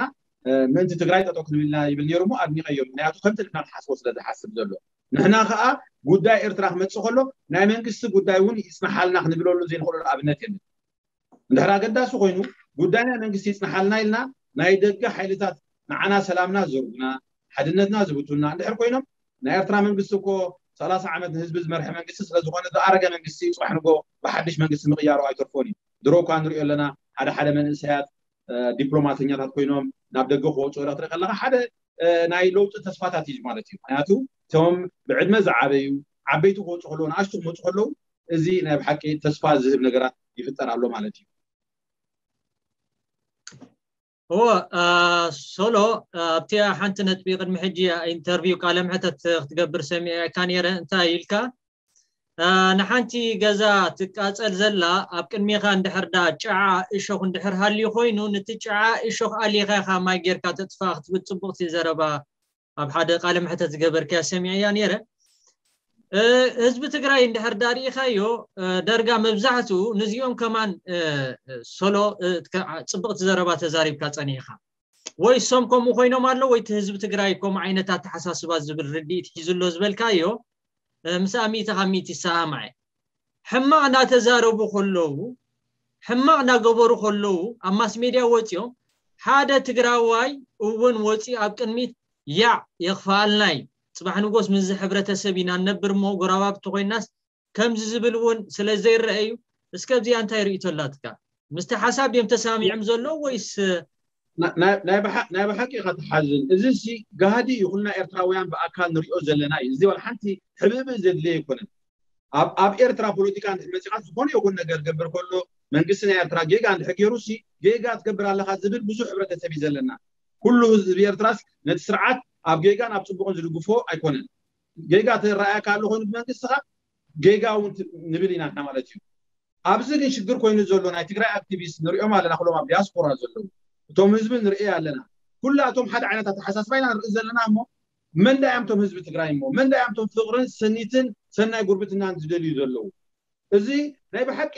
ምእንቲ ትግራይ ጠጠው ክንብልና ይብል ነይሩ እሞ ኣድኒቀዮ። ምክንያቱ ከምቲ ንሕና ንሓስቦ ስለ ዝሓስብ ዘሎ ንሕና ከዓ ጉዳይ ኤርትራ ክመፅእ ከሎ ናይ መንግስቲ ጉዳይ እውን ይፅናሓልና ክንብለሉ ዘይንኽእለሉ ኣብነት የለን። እንድሕር ኣገዳሲ ኮይኑ ጉዳይ ናይ መንግስቲ ይፅናሓልና ኢልና ናይ ደገ ሓይልታት ንዓና ሰላምና ዝዘርጉና ሓድነትና ዝብቱና እንድሕር ኮይኖም ናይ ኤርትራ መንግስቲ እኮ ሰላሳ ዓመት ንህዝቢ ዝመርሐ መንግስቲ ስለዝኾነ ዝኣረገ መንግስቲ ፅባሕ ንጎ ብሓድሽ መንግስቲ ምቕያሩ ኣይተርፎን እዩ። ድሮ እኳ ንሪኦ ኣለና ሓደ ሓደ መንእሰያት ዲፕሎማተኛታት ኮይኖም ናብ ደገ ክወፁ ላ ትርኢ ከለካ ሓደ ናይ ለውጢ ተስፋታት እዩ ማለት እዩ። ምክንያቱ እቶም ብዕድመ ዝዓበዩ ዓበይቲ ክወፁ ከለዉ ንኣሽቱ ክመፁ ከለዉ እዚ ናይ ብሓቂ ተስፋ ዝህብ ነገራት ይፍጠር ኣሎ ማለት እዩ። እዎ ሶሎ ኣብቲ ሓንቲ ነጥቢ ቅድሚ ሕጂ ኢንተርቪው ቃለ ምሕተት ክትገብር ሰሚዐካ ነይረ እንታይ ኢልካ ንሓንቲ ገዛ ትቃፀል ዘላ ኣብ ቅድሜኻ እንድሕር ዳ ጨዓ እሾኽ እንድሕር ሃልዩ ኮይኑ ንቲ ጨዓ እሾኽ ኣሊኻ ኢኻ ማይ ጌርካ ተጥፋ ክትብል ፅቡቕቲ ዘረባ ኣብ ሓደ ቃለ ምሕተት ዝገበርካያ ሰሚዐያ ነይረ ህዝቢ ትግራይ እንድሕር ዳርኢኻዮ ደርጋ መብዛሕትኡ ንዚኦም ከማን ሶሎ ፅብቕቲ ዘረባ ተዛሪብካ ፀኒሕካ ወይ እሶም ከምኡ ኮይኖም ኣሎ ወይ ህዝቢ ትግራይ ከምኡ ዓይነት ኣተሓሳስባ ዝብል ርድኢት ሒዙ ኣሎ ዝበልካዮ ምስ ኣሚተ ካብ ሚት ይሰማማዐ ሕማቕ እናተዛረቡ ከለዉ ሕማቕ እናገበሩ ከለዉ ኣብ ማስ ሜድያ ወፂኦም ሓደ ትግራዋይ እውን ወፂ ኣብ ቅድሚት ያዕ የኽፍኣልና እዩ ፅባሕ ንጎስ ምስዚ ሕብረተሰብ ኢና ንነብር እሞ ጎራባብቲ ኮይናስ ከምዚ ዝብል እውን ስለ ዘይረአዩ እስከ ኣብዚኣ እንታይ ርእይቶ ኣላትካ ምስቲ ሓሳብ ድዮም ተሰማሚዖም ዘለዉ ወይስ ናይ ብሓቂ ኢኻ ትሓዝን። እዚ ሲ ጋህዲ እዩ፣ ኩልና ኤርትራውያን ብኣካል ንሪኦ ዘለና እዩ። እዚ ዋላ ሓንቲ ሕብእብእ ዘድልየ ኣይኮነን። ኣብ ኤርትራ ፖለቲካ እንድሕር መፂኻ ዝኾነ ይኹን ነገር ገብር ከሎ መንግስቲ ናይ ኤርትራ ጌጋ እንድሕር ገይሩ ሲ ጌጋ ትገብር ኣለኻ ዝብል ብዙሕ ሕብረተሰብ እዩ ዘለና። ኩሉ ህዝቢ ኤርትራስ ነቲ ስርዓት ኣብ ጌጋን ኣብ ፅቡቕን ዝድግፎ ኣይኮነን። ጌጋ ተረኣየካ ኣሎ ኮይኑ ብመንግስቲ ኻ ጌጋ እውን ንብል ኢና ማለት እዩ። ኣብዚ ግን ሽግር ኮይኑ ዘሎ ናይ ትግራይ ኣክቲቪስት ንሪኦም ኣለና፣ ኩሎም ኣብ ዲያስፖራ ዘለዉ እቶም ህዝቢ ንርኢ ኣለና። ኩላቶም ሓደ ዓይነት ኣተሓሳስባ ኢና ንርኢ ዘለና። እሞ መን ዳያም ቶም ህዝቢ ትግራይ እሞ መን ዳያም ቶም ፍቕርን ስኒትን ሰናይ ጉርብትናን ዝደልዩ ዘለዉ? እዚ ናይ ብሓቂ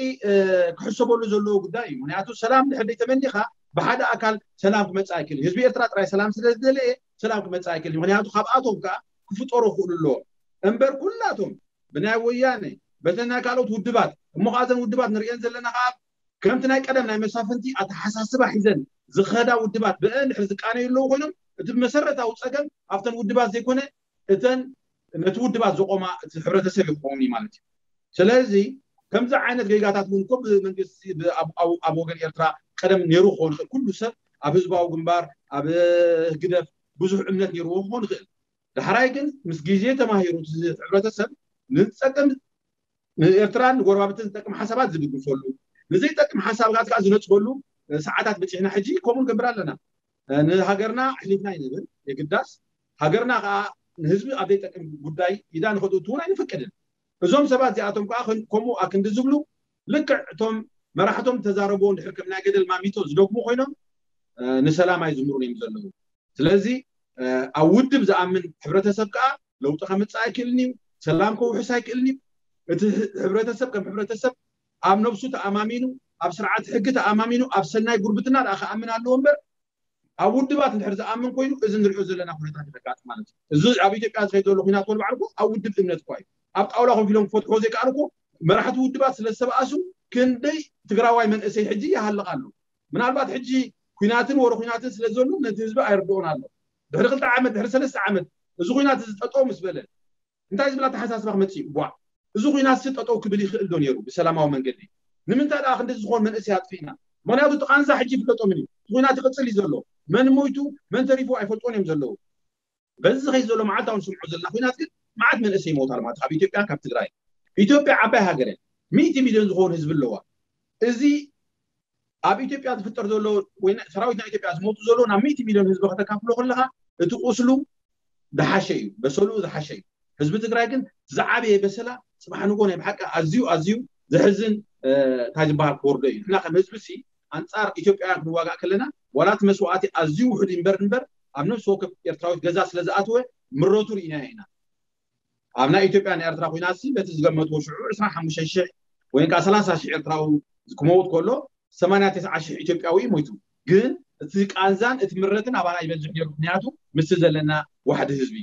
ክሕሰበሉ ዘለዎ ጉዳይ እዩ። ምክንያቱ ሰላም ድሕር ተመኒኻ ብሓደ ኣካል ሰላም ክመፅእ ኣይክእል። ህዝቢ ኤርትራ ጥራይ ሰላም ስለ ዝደለየ ሰላም ክመፅእ ኣይክእል። ምክንያቱ ካብኣቶም ከዓ ክፍጠሩ ክኽእሉ ኣለዎ እምበር ኩላቶም ብናይ ወያነ በተን ናይ ካልኦት ውድባት እሞ ከዓ እዘን ውድባት ንሪኤን ዘለና ከዓ ከምቲ ናይ ቀደም ናይ መሳፍንቲ ኣተሓሳስባ ሒዘን ዝኸዳ ውድባት ብአን ድሕሪ ዝቃነዩ ኣለዉ ኮይኖም እቲ መሰረታዊ ፀገም ኣብተን ውድባት ዘይኮነ እተን ነቲ ውድባት ዘቆማ እቲ ሕብረተሰብ ይኸውን እዩ ማለት እዩ። ስለዚ ከምዚ ዓይነት ጌጋታት እውን እኮ ብመንግስቲ ኣብ ወገን ኤርትራ ቀደም ነይሩ ክኸውን ይኽእል። ኩሉ ሰብ ኣብ ህዝባዊ ግንባር ኣብ ህግደፍ ብዙሕ እምነት ነይርዎ ክኸውን ይኽእል። ዳሕራይ ግን ምስ ግዜ ተማሂሩ እቲ ሕብረተሰብ ንዝጠቅም ንኤርትራን ንጎረባብትን ዝጠቅም ሓሳባት ዝድግፈሉ ንዘይጠቅም ሓሳባት ከዓ ዝነፅገሉ ሰዓታት በፂሕና። ሕጂ ከምኡ ንገብር ኣለና። ንሃገርና ኣሕሊፍና ይንብል የግዳስ ሃገርና ከዓ ንህዝቢ ኣብ ዘይጠቅም ጉዳይ ኢዳ ንኸትእቱ እውን ኣይንፈቅድን። እዞም ሰባት እዚኣቶም ከዓ ከምኡ ኣክንዲ ዝብሉ ልክዕ እቶም መራሕቶም ተዛረብዎ እንድሕር ከም ናይ ገደል ማሚቶ ዝደግሙ ኮይኖም ንሰላም ኣይዝምሩን እዮም ዘለዉ። ስለዚ ኣብ ውድብ ዝኣምን ሕብረተሰብ ከዓ ለውጢ ከምፅእ ኣይክእልን እዩ። ሰላም ከውሕስ ኣይክእልን እዩ። እቲ ሕብረተሰብ ከም ሕብረተሰብ ኣብ ነብሱ ተኣማሚኑ ኣብ ስርዓት ሕጊ ተኣማሚኑ ኣብ ሰናይ ጉርብትና ደኣ ክኣምን ኣለዎ እምበር ኣብ ውድባት እንድሕር ዝኣምን ኮይኑ እዚ ንሪኦ ዘለና ኩነታት ይረጋጥ ማለት እዩ። እዚ ኣብ ኢትዮጵያ ዝኸይድ ዘሎ ኩናት ወልባዕልኮ ኣብ ውድብ እምነት እኳ እዩ። ኣብ ጣውላ ኮፍ ኢሎም ክፈትሕዎ ዘይከኣሉ እኮ መራሕቲ ውድባት ስለ ዝተበኣሱ ክንደይ ትግራዋይ መንእሰይ ሕጂ ይሃልቕ ኣሎ። ምናልባት ሕጂ ኩናትን ወረ ኩናትን ስለ ዘሎ ነቲ ህዝቢ ኣይርድኦን ኣሎ። ድሕሪ ክልተ ዓመት ድሕሪ ሰለስተ ዓመት እዚ ኩናት እዚ ጠጠው ምስ በለ እንታይ ዝብል ኣተሓሳስባ ክመፅእ እዩ? ቧዕ፣ እዚ ኩናት ሲ ጠጠው ክብል ይኽእል ዶ ነይሩ ብሰላማዊ መንገዲ? ንምንታይ ደኣ ክንዲ ዝኾን መንእሰይ ኣጥፊእና? ምክንያቱ እቲ ቃንዛ ሕጂ ይፍለጦምን እዩ። እቲ ኩናት ይቕፅል እዩ ዘሎ። መን ሞይቱ መን ተሪፉ ኣይፈልጦን እዮም ዘለዉ። በዚ ዝኸይድ ዘሎ መዓልታዊ ንስምዖ ዘለና ኩናት ግን መዓት መንእሰይ ይሞት ኣሎ ማለት ካብ ኢትዮጵያን ካብ ትግራይ። ኢትዮጵያ ዓባይ ሃገር እያ። ሚእቲ ሚልዮን ዝኾኑ ህዝቢ ኣለዋ። እዚ ኣብ ኢትዮጵያ ዝፍጠር ዘሎ ወይ ሰራዊት ናይ ኢትዮጵያ ዝሞቱ ዘሎ ናብ ሚእቲ ሚልዮን ህዝቢ ከተካፍሎ ከለካ እቲ ቁስሉ ዝሓሸ እዩ፣ በሰሉ ዝሓሸ እዩ። ህዝቢ ትግራይ ግን ዝዓበየ በሰላ ፅባሕ ንጎ ናይ ብሓቂ ኣዝዩ ኣዝዩ ዘሕዝን እንታይ ዝበሃል ክወርዶ እዩ። ንሕና ከም ህዝቢ ሲ ኣንፃር ኢትዮጵያውያን ክንዋጋእ ከለና ዋላ እቲ መስዋእቲ ኣዝዩ ውሑድ እምበር እምበር ኣብ ነፍሲ ወከፍ ኤርትራዊት ገዛ ስለ ዝኣተወ ምረቱ ርኢናዮ ኢና። ኣብ ናይ ኢትዮጵያ ናይ ኤርትራ ኩናት ሲ በቲ ዝገመትዎ ሽዑ ዕስራን ሓሙሽተን ሽሕ ወይ ከዓ ሰላሳ ሽሕ ኤርትራዊ ክመውት ከሎ ሰማንያ ተስዓ ሽሕ ኢትዮጵያዊ እዩ ሞይቱ። ግን እቲ ቃንዛን እቲ ምረትን ኣባና ይበዝሕ ነይሩ። ምክንያቱ ምስቲ ዘለና ዋሕዲ ህዝቢ።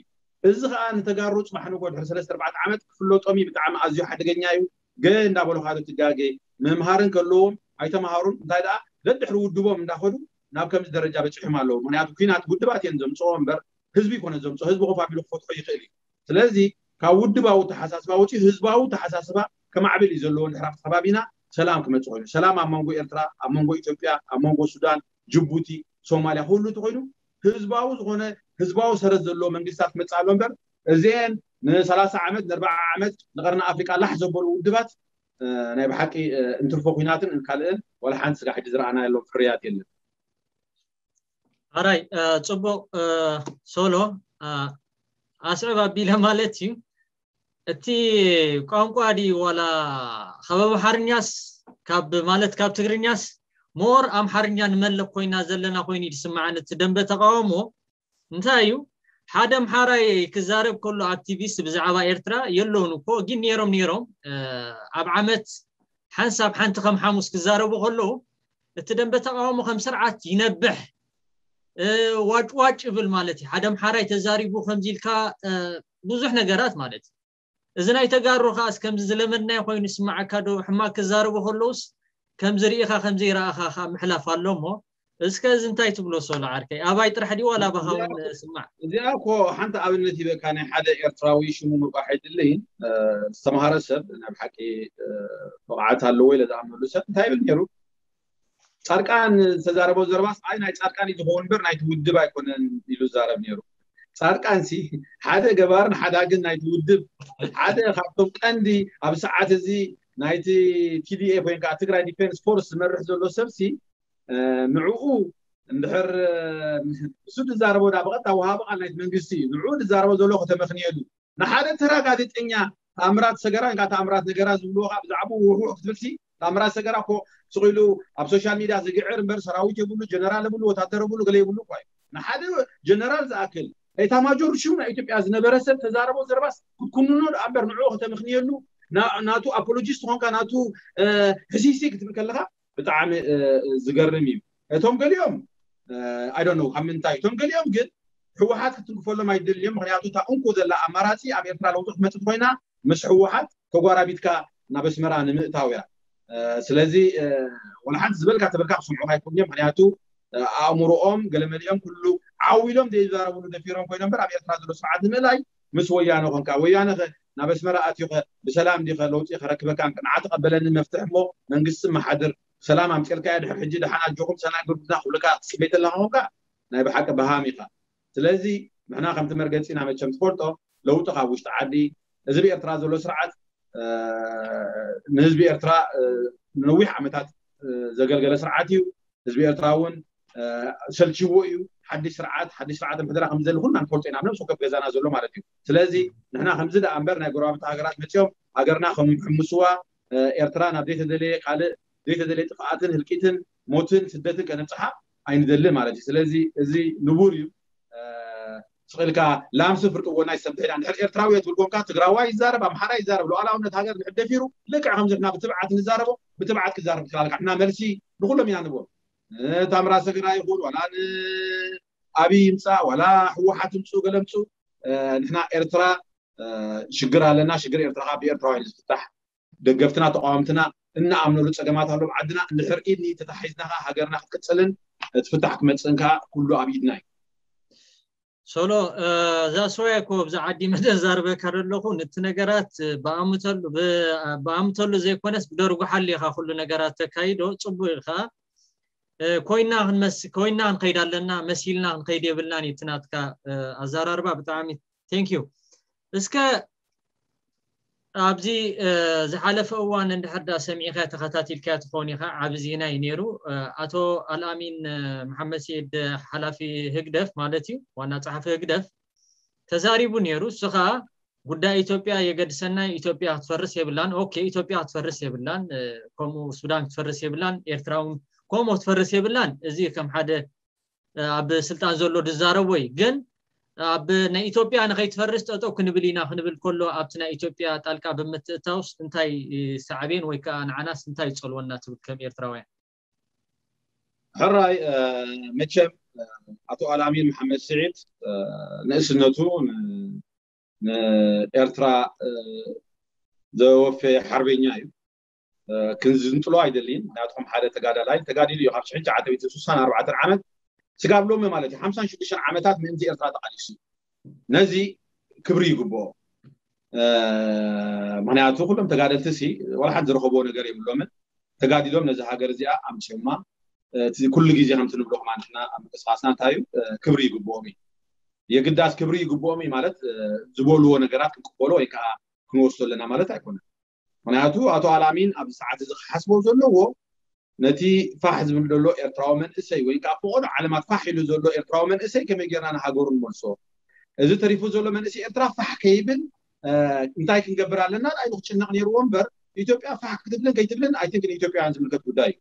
እዚ ከዓ ንተጋሩ ፅባሕ ንጎ ድሕሪ ሰለስተ ኣርባዕተ ዓመት ክፍለጦም እዩ። ብጣዕሚ ኣዝዩ ሓደገኛ እዩ። ገ እንዳበሉ ሓደ ትጋገ ምምሃርን ከለዎም ኣይተምሃሩን። እንታይ ደኣ ደድሕሪ ውድቦም እንዳኸዱ ናብ ከምዚ ደረጃ በፂሖም ኣለዉ። ምክንያቱ ኩናት ውድባት እየን ዘምፅኦ እምበር ህዝቢ ይኮነ ዘምፅኦ። ህዝቢ ኮፍ ኣቢሉ ክፈትሖ ይኽእል እዩ። ስለዚ ካብ ውድባዊ ተሓሳስባ ወፂኡ ህዝባዊ ተሓሳስባ ከማዕብል እዩ ዘለዎ። ድሕር ኣብቲ ከባቢና ሰላም ክመፅእ ኮይኑ ሰላም ኣብ መንጎ ኤርትራ፣ ኣብ መንጎ ኢትዮጵያ፣ ኣብ መንጎ ሱዳን፣ ጅቡቲ፣ ሶማሊያ ኩሉ እቲ ኮይኑ ህዝባዊ ዝኾነ ህዝባዊ ሰረት ዘለዎ መንግስታት ክመፅእ ኣሎ እምበር እዚአን ንሰላሳ ዓመት ንኣርባዓ ዓመት ንቀርኒ ኣፍሪቃ ላሕ ዘበሉ ውድባት ናይ ብሓቂ እንትርፎ ኩናትን ካልእን ዋላ ሓንቲ ስጋ ሕጂ ዝረኣናሎም ፍርያት የለን። ኣራይ ጽቡቕ ሶሎ ኣስዕብ ኣቢለ ማለት እዩ። እቲ ቋንቋ ድዩ ዋላ ካብ ኣምሓርኛስ ካብ ማለት ካብ ትግርኛስ ሞር ኣምሓርኛ ንመልክ ኮይና ዘለና ኮይኑ እዩ ዝስምዓኒ እቲ ደንበ ተቃውሞ። እንታይ እዩ ሓደ ኣምሓራይ ክዛረብ ከሎ ኣክቲቪስት ብዛዕባ ኤርትራ የለውን እኮ ግን ነይሮም ነይሮም ኣብ ዓመት ሓንሳብ ሓንቲ ከም ሓሙስ ክዛረቡ ከለዉ እቲ ደንበ ተቃውሞ ከም ስርዓት ይነብሕ ዋጭዋጭ ይብል ማለት እዩ። ሓደ ኣምሓራይ ተዛሪቡ ከምዚ ኢልካ ብዙሕ ነገራት ማለት እዩ። እዚ ናይ ተጋሩ ከዓስ ከምዚ ዝለመድናዮ ኮይኑ ይስምዓካ ዶ? ሕማቅ ክዛረቡ ከለውስ ከምዚ ርኢኻ ከምዘይረኣኻ ከዓ ምሕላፍ ኣሎ እሞ እስከ እዚ እንታይ ትብሎ ሶሎ ዓርከይ? ኣባይ ጥራሕ ድዩ ዋላ ኣባኻ እውን ስማዕ። እዚኣ እኮ ሓንቲ ኣብነት ይበካ ናይ ሓደ ኤርትራዊ ሽሙ ምብቃሕ ኣይድልይን ዝተምሃረ ሰብ ናይ ብሓቂ ብቕዓት ኣለዎ ኢለ ዝኣምነሉ ሰብ እንታይ ይብል ነይሩ ጻድቃን ዝተዛረቦ ዘረባስ ኣይ ናይ ጻድቃን እዩ ዝኸውን እምበር ናይቲ ውድብ ኣይኮነን ኢሉ ዝዛረብ ነይሩ። ጻድቃን ሲ ሓደ ገባርን ሓዳግን ናይቲ ውድብ ሓደ ካብቶም ቀንዲ ኣብ ሰዓት እዚ ናይቲ ቲ ዲ ኤፍ ወይ ከዓ ትግራይ ዲፌንስ ፎርስ ዝመርሕ ዘሎ ሰብ ሲ ንዕኡ እንድሕር እሱ ዝዛረቦ ዳ ብቐጥታ ወሃቢ ቃል ናይቲ መንግስቲ እዩ። ንዕኡ ዝዛረቦ ዘሎ ከተመኽንየሉ ንሓደ ተራ ጋዜጠኛ ታምራት ሰገራ እንካ ታምራት ነገራ ዝብልዎ ከዓ ብዛዕባኡ ውሕውሕ ክትብል ሲ ታምራት ሰገራ እኮ ስቕ ኢሉ ኣብ ሶሻል ሚድያ ዝግዕር እምበር ሰራዊት የብሉ፣ ጀነራል የብሉ፣ ወታደር የብሉ፣ ገለ የብሉ እኳ እዩ። ንሓደ ጀነራል ዝኣክል ኤታማጆር ሹም ናይ ኢትዮጵያ ዝነበረ ሰብ ተዛረቦ ዘረባስ ክትኩንኖ ደኣ እምበር ንዕኡ ከተመኽንየሉ ናቱ ኣፖሎጂስት ኾንካ ናቱ ሕሲሲ ክትብል ከለኻ ብጣዕሚ ዝገርም እዩ። እቶም ገሊኦም ኣይ ዶንት ኖው ካብ ምንታይ እቶም ገሊኦም ግን ህወሓት ክትንክፈሎም ኣይደልዮም። ምክንያቱ እታ እንኮ ዘላ ኣማራፂ ኣብ ኤርትራ ለውጢ ክትመፅእ ኮይና ምስ ህወሓት ተጓራቢትካ ናብ ኣስመራ ንምእታው እያ። ስለዚ ወላ ሓንቲ ዝበልካ ተበልካ ክሰምዑካ ኣይኮንዮም። ምክንያቱ ኣእምሮኦም ገለመሊኦም ኩሉ ዓው ኢሎም ዘይዛረብሉ ደፊሮም ኮይኖም በር ኣብ ኤርትራ ዘሎ ስርዓት ንምእላይ ምስ ወያነ ኮንካ ወያነ ከ ናብ ኣስመራ ኣትዩ ከ ብሰላም ዲኸ ለውጢ ከረክበካ ንዓ ተቐበለኒ መፍትሕ እሞ መንግስቲ መሓድር ሰላም ኣምፅልካ ድሕር ሕጂ ደሓን ኣጆኹም ሰናይ ጉርብትና ክብልካ ትፅበይ ተለካ ኮንካ ናይ ብሓቂ በሃም ኢኻ። ስለዚ ንሕና ከምቲ መርገፂና መቸም ትፈልጦ ለውጢ ካብ ውሽጢ ዓዲ እዚ ብኤርትራ ዘሎ ስርዓት ንህዝቢ ኤርትራ ንነዊሕ ዓመታት ዘገልገለ ስርዓት እዩ። ህዝቢ ኤርትራ እውን ሰልችዎ እዩ። ሓድሽ ስርዓት ሓድሽ ስርዓት ምሕደራ ከም ዘሊ ኩልና ንፈልጦ ኢና። ነብሱ ከብ ገዛና ዘሎ ማለት እዩ። ስለዚ ንሕና ከምዚ ደኣ እምበር ናይ ጎረባብቲ ሃገራት መፅኦም ሃገርና ከም ሕምስዋ ኤርትራ ናብ ዘይተደለየ ካልእ ዘይተደለየ ጥፍኣትን ህልቂትን ሞትን ስደትን ከነብፅሓ ኣይንደልን ማለት እዩ። ስለዚ እዚ ንቡር እዩ። ስቕ ኢልካ ላምሲ ፍርቂ ጎና ይሰብሕ ኢላ እንድሕር ኤርትራዊ እየ ትብል ኮንካ ትግራዋይ ይዛረብ ኣምሓራ ይዛረብ ሉዓላውነት ሃገር እንድሕር ደፊሩ ልክዕ ከምዚ ንሕና ብትብዓት ንዛረቦ ብትብዓት ክዛረብ ትኽእል ኣለካ። ንሕና መልሲ ንኩሎም ኢና ንብሎ። ንታምራት ሰገራ ይኹን ዋላ ንኣብይ ይምፃእ ዋላ ህወሓት ይምፅኡ ገለ ምፅኡ ንሕና ኤርትራ ሽግር ኣለና። ሽግር ኤርትራ ከዓ ብኤርትራውያን ዝፍታሕ ደገፍትና ተቃወምትና እንኣምነሉ ፀገማት ኣሎ ኣብ ዓድና እንድሕር ኢድ ንኢድ ተታሒዝና ከዓ ሃገርና ክትቅፅልን ትፍታሕ ክመፅእን ከዓ ኩሉ ኣብ ኢድና እዩ። ሶሎ እዛ ስወያ እኮ ብዛ ዓዲ መደዛርበካ ዘለኹ ነቲ ነገራት ብኣምተሉ ብኣምተሉ ዘይኮነስ ብደርጉ ሓሊኻ ኩሉ ነገራት ተካይዶ ፅቡቅ ኢልካ ኮይና ክንመስ ኮይና ክንከይድ ኣለና መሲልና ክንከይድ የብልናን እዩ እቲ ናትካ ኣዘራርባ ብጣዕሚ thank you እስከ ኣብዚ ዝሓለፈ እዋን እንድሕር ዳ ሰሚዕካ ተኸታቲልካ ትኸውን ኢኻ ዓቢ ዜና እዩ ነይሩ ኣቶ ኣልኣሚን መሓመድ ስዒድ ሓላፊ ህግደፍ ማለት እዩ ዋና ጸሓፊ ህግደፍ ተዛሪቡ ነይሩ እሱ ከዓ ጉዳይ ኢትዮጵያ የገድሰና ኢትዮጵያ ክትፈርስ የብላን ኦኬ ኢትዮጵያ ክትፈርስ የብላን ከምኡ ሱዳን ክትፈርስ የብላን ኤርትራ እውን ከምኡ ክትፈርስ የብላን እዚ ከም ሓደ ኣብ ስልጣን ዘሎ ዝዛረቦ እዩ ግን ኣብ ናይ ኢትዮጵያ ንኸይትፈርስ ጠጠው ክንብል ኢና ክንብል ከሎ ኣብቲ ናይ ኢትዮጵያ ጣልቃ ብምትእታውስ እንታይ ሳዕቤን ወይ ከዓ ንዓናስ እንታይ ይፀልወና ትብል ከም ኤርትራውያን ሕራይ መቸም ኣቶ ኣልኣሚን መሓመድ ስዒድ ንእስነቱ ንኤርትራ ዘወፈየ ሓርበኛ እዩ። ክንዝንጥሎ ኣይደልይን። ምክንያቱ ከም ሓደ ተጋዳላይ ተጋዲሉ እዩ ካብ ሽሕን ትሽዓተ ሚእትን ስሳን ኣርባዕተን ዓመት ስጋብ ሎሚ ማለት እዩ ሓምሳን ሽዱሽተን ዓመታት ምእንቲ ኤርትራ ተቃሊሱ። ነዚ ክብሪ ይግብኦ። ምክንያቱ ኩሎም ተጋደልቲ ሲ ዋላ ሓንቲ ዝረኸብዎ ነገር የብሎምን። ተጋዲሎም ነዚ ሃገር እዚኣ ኣምፅዮማ። እቲ ኩሉ ግዜ ከምቲ ንብሎ ከማ ንሕና ኣብ ምንቅስቃስና እንታይ እዩ ክብሪ ይግብኦም እዩ። የግዳስ ክብሪ ይግብኦም እዩ ማለት ዝበልዎ ነገራት ክንቅበሎ ወይ ከዓ ክንወስዶ ኣለና ማለት ኣይኮነን። ምክንያቱ ኣቶ ኣላሚን ኣብዚ ሰዓት እዚ ክሓስቦ ዘለዎ ነቲ ፋሕ ዝብል ዘሎ ኤርትራዊ መንእሰይ ወይ ከዓ ፈቐዶ ዓለማት ፋሕ ኢሉ ዘሎ ኤርትራዊ መንእሰይ ከመይ ጌርና ንሃገሩ ንመልሶ? እዚ ተሪፉ ዘሎ መንእሰይ ኤርትራ ፋሕ ከይብል እንታይ ክንገብር ኣለና? ኢሉ ክጭነቕ ነይርዎ እምበር ኢትዮጵያ ፋሕ ክትብልን ከይትብልን ኣይትንክ ንኢትዮጵያውያን ዝምልከት ጉዳይ እዩ።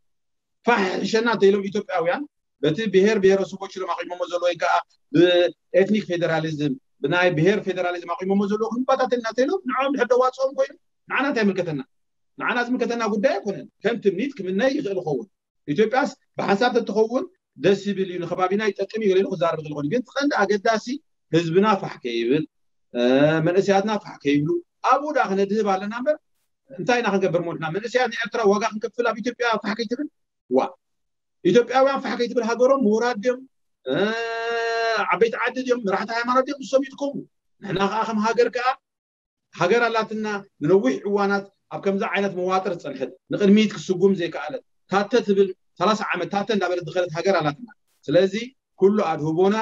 ፋሕ ሕሸና እንተኢሎም ኢትዮጵያውያን በቲ ብሄር ብሄረሰቦች ኢሎም ኣቂሞሞ ዘሎ ወይ ከዓ ብኤትኒክ ፌደራሊዝም ብናይ ብሄር ፌደራሊዝም ኣቂሞሞ ዘለዉ ክንባታተልና እንተኢሎም ንዕኦም ድሕር ደዋፅኦም ኮይኑ ንዓና እንታይ ይምልከተና? ንዓና ዝምልከተና ጉዳይ ኣይኮነን። ከም ትምኒት ክምነ ይኽእል ይኸውን። ኢትዮጵያስ ብሓንሳብ ተትኸውን ደስ ይብል እዩ፣ ንከባቢና ይጠቅም እዩ ገለ ኢሉ ክዛረብ ይኽእል ይኸውን። ግን እቲ ቀንዲ ኣገዳሲ ህዝብና ፋሕ ከይብል፣ መንእሰያትና ፋሕ ከይብሉ ኣብኡ ደኣ ክነድህብ ኣለና እምበር እንታይ ኢና ክንገብር ሞትና? መንእሰያት ንኤርትራ ዋጋ ክንከፍል ኣብ ኢትዮጵያ ፋሕ ከይትብል ዋ ኢትዮጵያውያን ፋሕ ከይትብል ሃገሮም ምሁራት ድዮም ዓበይቲ ዓዲ ድዮም መራሕቲ ሃይማኖት ድዮም ንሶም ይጥቀሙ። ንሕና ከዓ ከም ሃገር ከዓ ሃገር ኣላትና ንነዊሕ እዋናት ኣብ ከምዚ ዓይነት መዋጥር ዝፀንሐት ንቅድሚት ክስጉም ዘይከኣለት ታተ ትብል ሰላሳ ዓመት ታተ እንዳበለት ዝኸደት ሃገር ኣላትና። ስለዚ ኩሉ ኣድህቦና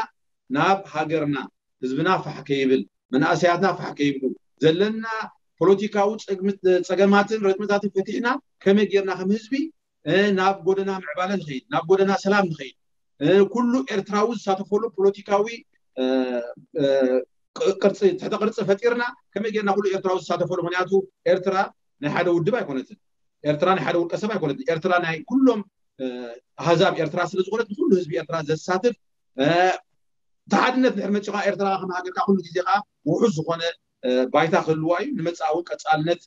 ናብ ሃገርና፣ ህዝብና ፋሕ ከይብል፣ መናእሰያትና ፋሕ ከይብሉ፣ ዘለና ፖለቲካዊ ጸገማትን ረጥምታትን ፈቲሕና ከመይ ጌርና ከም ህዝቢ ናብ ጎደና ምዕባለ ንኸይድ፣ ናብ ጎደና ሰላም ንኸይድ፣ ኩሉ ኤርትራዊ ዝሳተፈሉ ፖለቲካዊ ቅርፂ፣ ትሕተ ቅርፂ ፈጢርና ከመይ ጌርና ኩሉ ኤርትራዊ ዝሳተፈሉ። ምክንያቱ ኤርትራ ናይ ሓደ ውድብ ኣይኮነትን። ኤርትራ ናይ ሓደ ውልቀ ሰብ ኣይኮነትን። ኤርትራ ናይ ኩሎም ኣህዛብ ኤርትራ ስለ ዝኾነት ንኩሉ ህዝቢ ኤርትራ ዘሳትፍ እቲ ሓድነት ድሕሪ መፂኻ ኤርትራ ከም ሃገርካ ኩሉ ግዜ ከዓ ውሑስ ዝኾነ ባይታ ክህልዋ እዩ። ንመፃእ እውን ቀፃልነት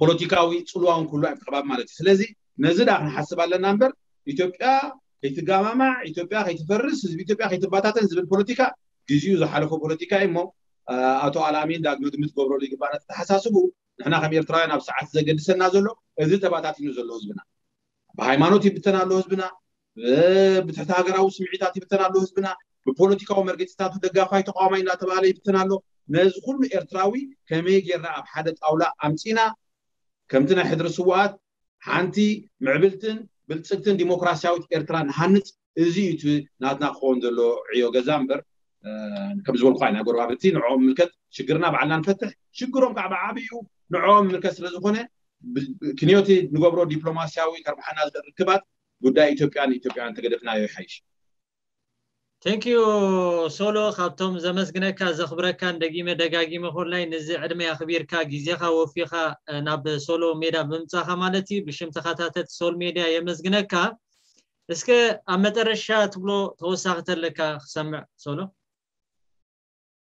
ፖለቲካዊ ፅልዋ እውን ክህሉ ኣብቲ ከባቢ ማለት እዩ። ስለዚ ነዚ ዳ ክንሓስብ ኣለና እምበር ኢትዮጵያ ከይትጋማማዕ፣ ኢትዮጵያ ከይትፈርስ፣ ህዝቢ ኢትዮጵያ ከይትባታተን ዝብል ፖለቲካ ግዚኡ ዝሓለፎ ፖለቲካ እዩ እሞ ኣቶ ኣልኣሚን ዳግመ ግምት ክገብረሉ ይግባእ። ነተሓሳስቡ ንሕና ከም ኤርትራውያን ኣብ ሰዓት ዘገድሰና ዘሎ እዚ ተባታቲኑ ዘሎ ህዝብና ብሃይማኖት ይብተን ኣሎ ህዝብና፣ ብትሕቲ ሃገራዊ ስምዒታት ይብተን ኣሎ ህዝብና፣ ብፖለቲካዊ መርገፂታቱ ደጋፋይ ተቃዋማይ እናተባሃለ ይብተን ኣሎ። ነዚ ኩሉ ኤርትራዊ ከመይ ጌርና ኣብ ሓደ ጣውላ ኣምፂና ከምቲ ናይ ሕድሪ ስውኣት ሓንቲ ምዕብልትን ብልፅግትን ዲሞክራሲያዊት ኤርትራ ንሃንፅ። እዚ እዩ እቲ ናትና ክኸውን ዘሎ ዕዮ ገዛ እምበር ከም ዝበልኩ ናይ ጎረባብቲ ንዕኦም ምልከት ሽግርና ባዕልና ንፈትሕ፣ ሽግሮም ከዓ ብዓብዩ ንዕኦም ምልከት ስለዝኾነ ክንዮቲ ንገብሮ ዲፕሎማሲያዊ ከርብሓና ዝኽእል ርክባት ጉዳይ ኢትዮጵያን ኢትዮጵያውያን ተገደፍናዮ ይሓይሽ። Thank you ሶሎ፣ ካብቶም ዘመስግነካ ዘኽብረካን ደጊመ ደጋጊመ ኮላይ ንዚ ዕድመ ኣኽቢርካ ግዜኻ ወፊኻ ናብ ሶሎ ሜዳ ብምምጻኻ ማለት እዩ ብሽም ተኸታተልቲ ሶል ሜድያ የመስግነካ። እስከ ኣብ መጠረሻ ትብሎ ተወሳኺ ተለካ ክሰምዕ ሶሎ።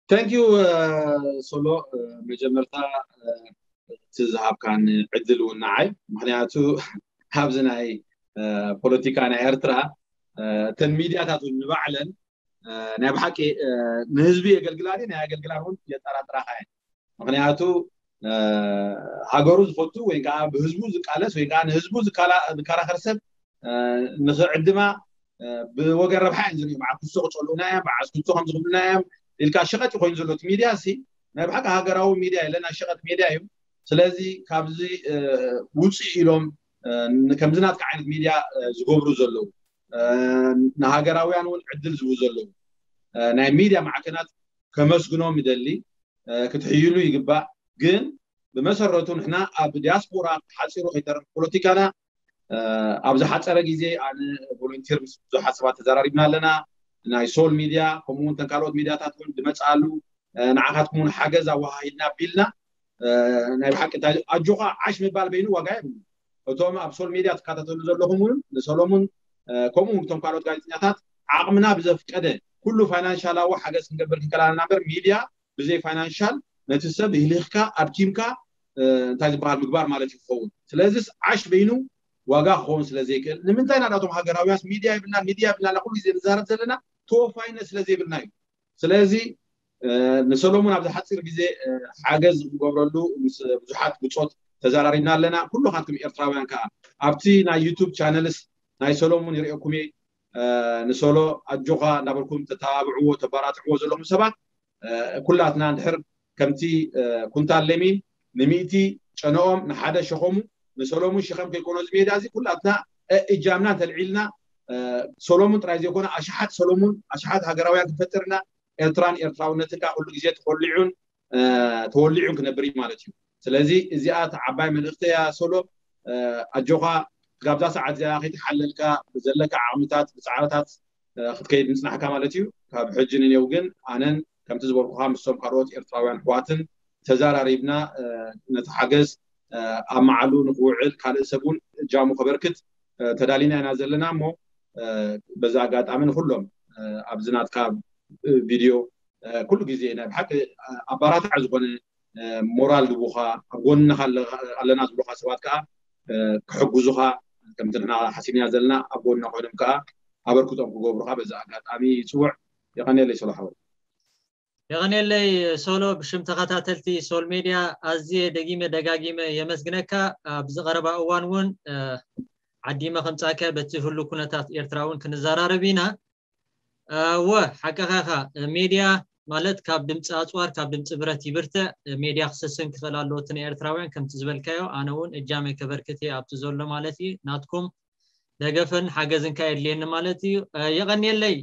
Thank you ሶሎ፣ መጀመርታ እቲ ዝሃብካን ዕድል እውን ንዓይ፣ ምክንያቱ ኣብዚ ናይ ፖለቲካ ናይ ኤርትራ እተን ሚድያታት እውን ንባዕለን ናይ ብሓቂ ንህዝቢ የገልግላ ድየን ኣየገልግላን እውን የጠራጥራኻ እየን። ምክንያቱ ሃገሩ ዝፈቱ ወይ ከዓ ብህዝቡ ዝቃለስ ወይ ከዓ ንህዝቡ ዝከራኸር ሰብ ንክዕድማ ብወገን ረብሓ እዮም ዝሪኡ። በዓል ክሶ ክፀልኡና እዮም፣ በዓል ክሶ ከም ዝኽብሉና እዮም ኢልካ ሸቐጥ ኮይኑ ዘሎ እቲ ሚድያ ሲ ናይ ብሓቂ ሃገራዊ ሚድያ የለ፣ ናይ ሸቐጥ ሚድያ እዩ። ስለዚ ካብዚ ውፅእ ኢሎም ከምዚ ናትካ ዓይነት ሚድያ ዝገብሩ ዘለዉ ንሃገራውያን እውን ዕድል ዝህቡ ዘለዉ ናይ ሚድያ ማዕከናት ከመስግኖም ይደሊ። ክትሕይሉ ይግባእ። ግን ብመሰረቱ ንሕና ኣብ ዲያስፖራ ሓፂሩ ከይተረፍ ፖለቲካና ኣብ ዝሓፀረ ግዜ ኣነ ቮለንቲር ምስ ብዙሓት ሰባት ተዘራሪብና ኣለና። ናይ ሶል ሚድያ ከምኡውን ተን ካልኦት ሚድያታት እውን ዝመፅኣሉ ንዓኻትኩም እውን ሓገዝ ኣወሃሂድና ቢልና ናይ ብሓቂ እንታይ ኣጆኻ ዓሽ ምባል በይኑ ዋጋ የብሉ። እቶም ኣብ ሶል ሚድያ ትከታተሉ ዘለኹም እውን ንሰሎሙን ከምኡ እውን እቶም ካልኦት ጋዜጠኛታት ዓቕምና ብዘፍቀደ ኩሉ ፋይናንሻላዊ ሓገዝ ክንገብር ክንከላልና እምበር ሚድያ ብዘይ ፋይናንሻል ነቲ ሰብ ህሊኽካ ኣድኪምካ እንታይ ዝበሃል ምግባር ማለት እዩ ክኸውን። ስለዚስ ዓሽ በይኑ ዋጋ ክኸውን ስለ ዘይክእል ንምንታይ ናዳቶም ሃገራውያንስ ሚድያ ይብልና ሚድያ ይብልና ኩሉ ግዜ ንዛረብ ዘለና ተወፋይነት ስለ ዘይብልና እዩ። ስለዚ ንሰሎሙን ኣብዚ ሓፂር ግዜ ሓገዝ ንገብረሉ ምስ ብዙሓት ብፆት ተዘራሪብና ኣለና። ኩሉ ካትኩም ኤርትራውያን ከዓ ኣብቲ ናይ ዩቱብ ቻነልስ ናይ ሰሎሙን ይርእየኩም እየ። ንሶሎ ኣጆኻ እናበልኩም ተተባብዕዎ ተባራትዕዎ ዘለኹም ሰባት ኩላትና እንድሕር ከምቲ ኩንታል ለሚን ንሚእቲ ጨነኦም ንሓደ ሸኸሙ ንሰሎሙን ሽኸም ከይኮኖ እዚ ሜዳ እዚ ኩላትና እጃምና እንተልዒልና ሰሎሙን ጥራይ ዘይኮነ ኣሽሓት ሰሎሙን ኣሽሓት ሃገራውያን ክፈጥርና ኤርትራን ኤርትራውነትን ከዓ ኩሉ ግዜ ተኮሊዑን ተወሊዑን ክነብር እዩ ማለት እዩ። ስለዚ እዚኣ ዓባይ መልእክቲ እያ ሶሎ። ኣጆኻ ጋብዛ ሰዓት እዚኣ ከይተሓለልካ ብዘለካ ዓቕምታት ብፃዕርታት ክትከይድ ምፅናሕካ ማለት እዩ። ካብ ሕጂ ንኔው ግን ኣነን ከምቲ ዝበልኩኻ ምስቶም ካልኦት ኤርትራውያን ኣሕዋትን ተዛራሪብና ነቲ ሓገዝ ኣብ መዓሉ ንክውዕል ካልእ ሰብ እውን እጃሙ ከበርክት ተዳሊና ኢና ዘለና እሞ በዚ ኣጋጣሚ ንኩሎም ኣብዚ ናትካ ቪድዮ ኩሉ ግዜ ናይ ብሓቂ ኣባራታዕ ዝኾነ ሞራል ዝቡኻ ኣብ ጎንኻ ኣለና ዝብሉኻ ሰባት ከዓ ክሕግዙኻ ከምቲ ንሕና ሓሲብና ዘለና ኣብ ጎንና ኮይኖም ከዓ ኣበርክቶም ክገብሩኻ በዚ ኣጋጣሚ ይፅውዕ። የቐንየለይ ሶሎ ሓወይ። የቐንየለይ ሶሎ። ብሽም ተኸታተልቲ ሶል ሜድያ ኣዝየ ደጊመ ደጋጊመ የመስግነካ። ኣብዚ ቀረባ እዋን እውን ዓዲመ ከምፃእካ በቲ ህሉ ኩነታት ኤርትራ እውን ክንዘራረብ ኢና። እወ ሓቅኻ ኢኻ። ሜድያ ማለት ካብ ድምፂ ኣፅዋር ካብ ድምፂ ብረት ይብርትዕ። ሜድያ ክስስን ክኽእል ኣለዎ እቲ ንኤርትራውያን ከምቲ ዝበልካዮ ኣነ እውን እጃመይ ከበርክት እየ ኣብቲ ዘሎ ማለት እዩ ናትኩም ደገፍን ሓገዝን ከየድልየኒ ማለት እዩ። የቐንየለይ።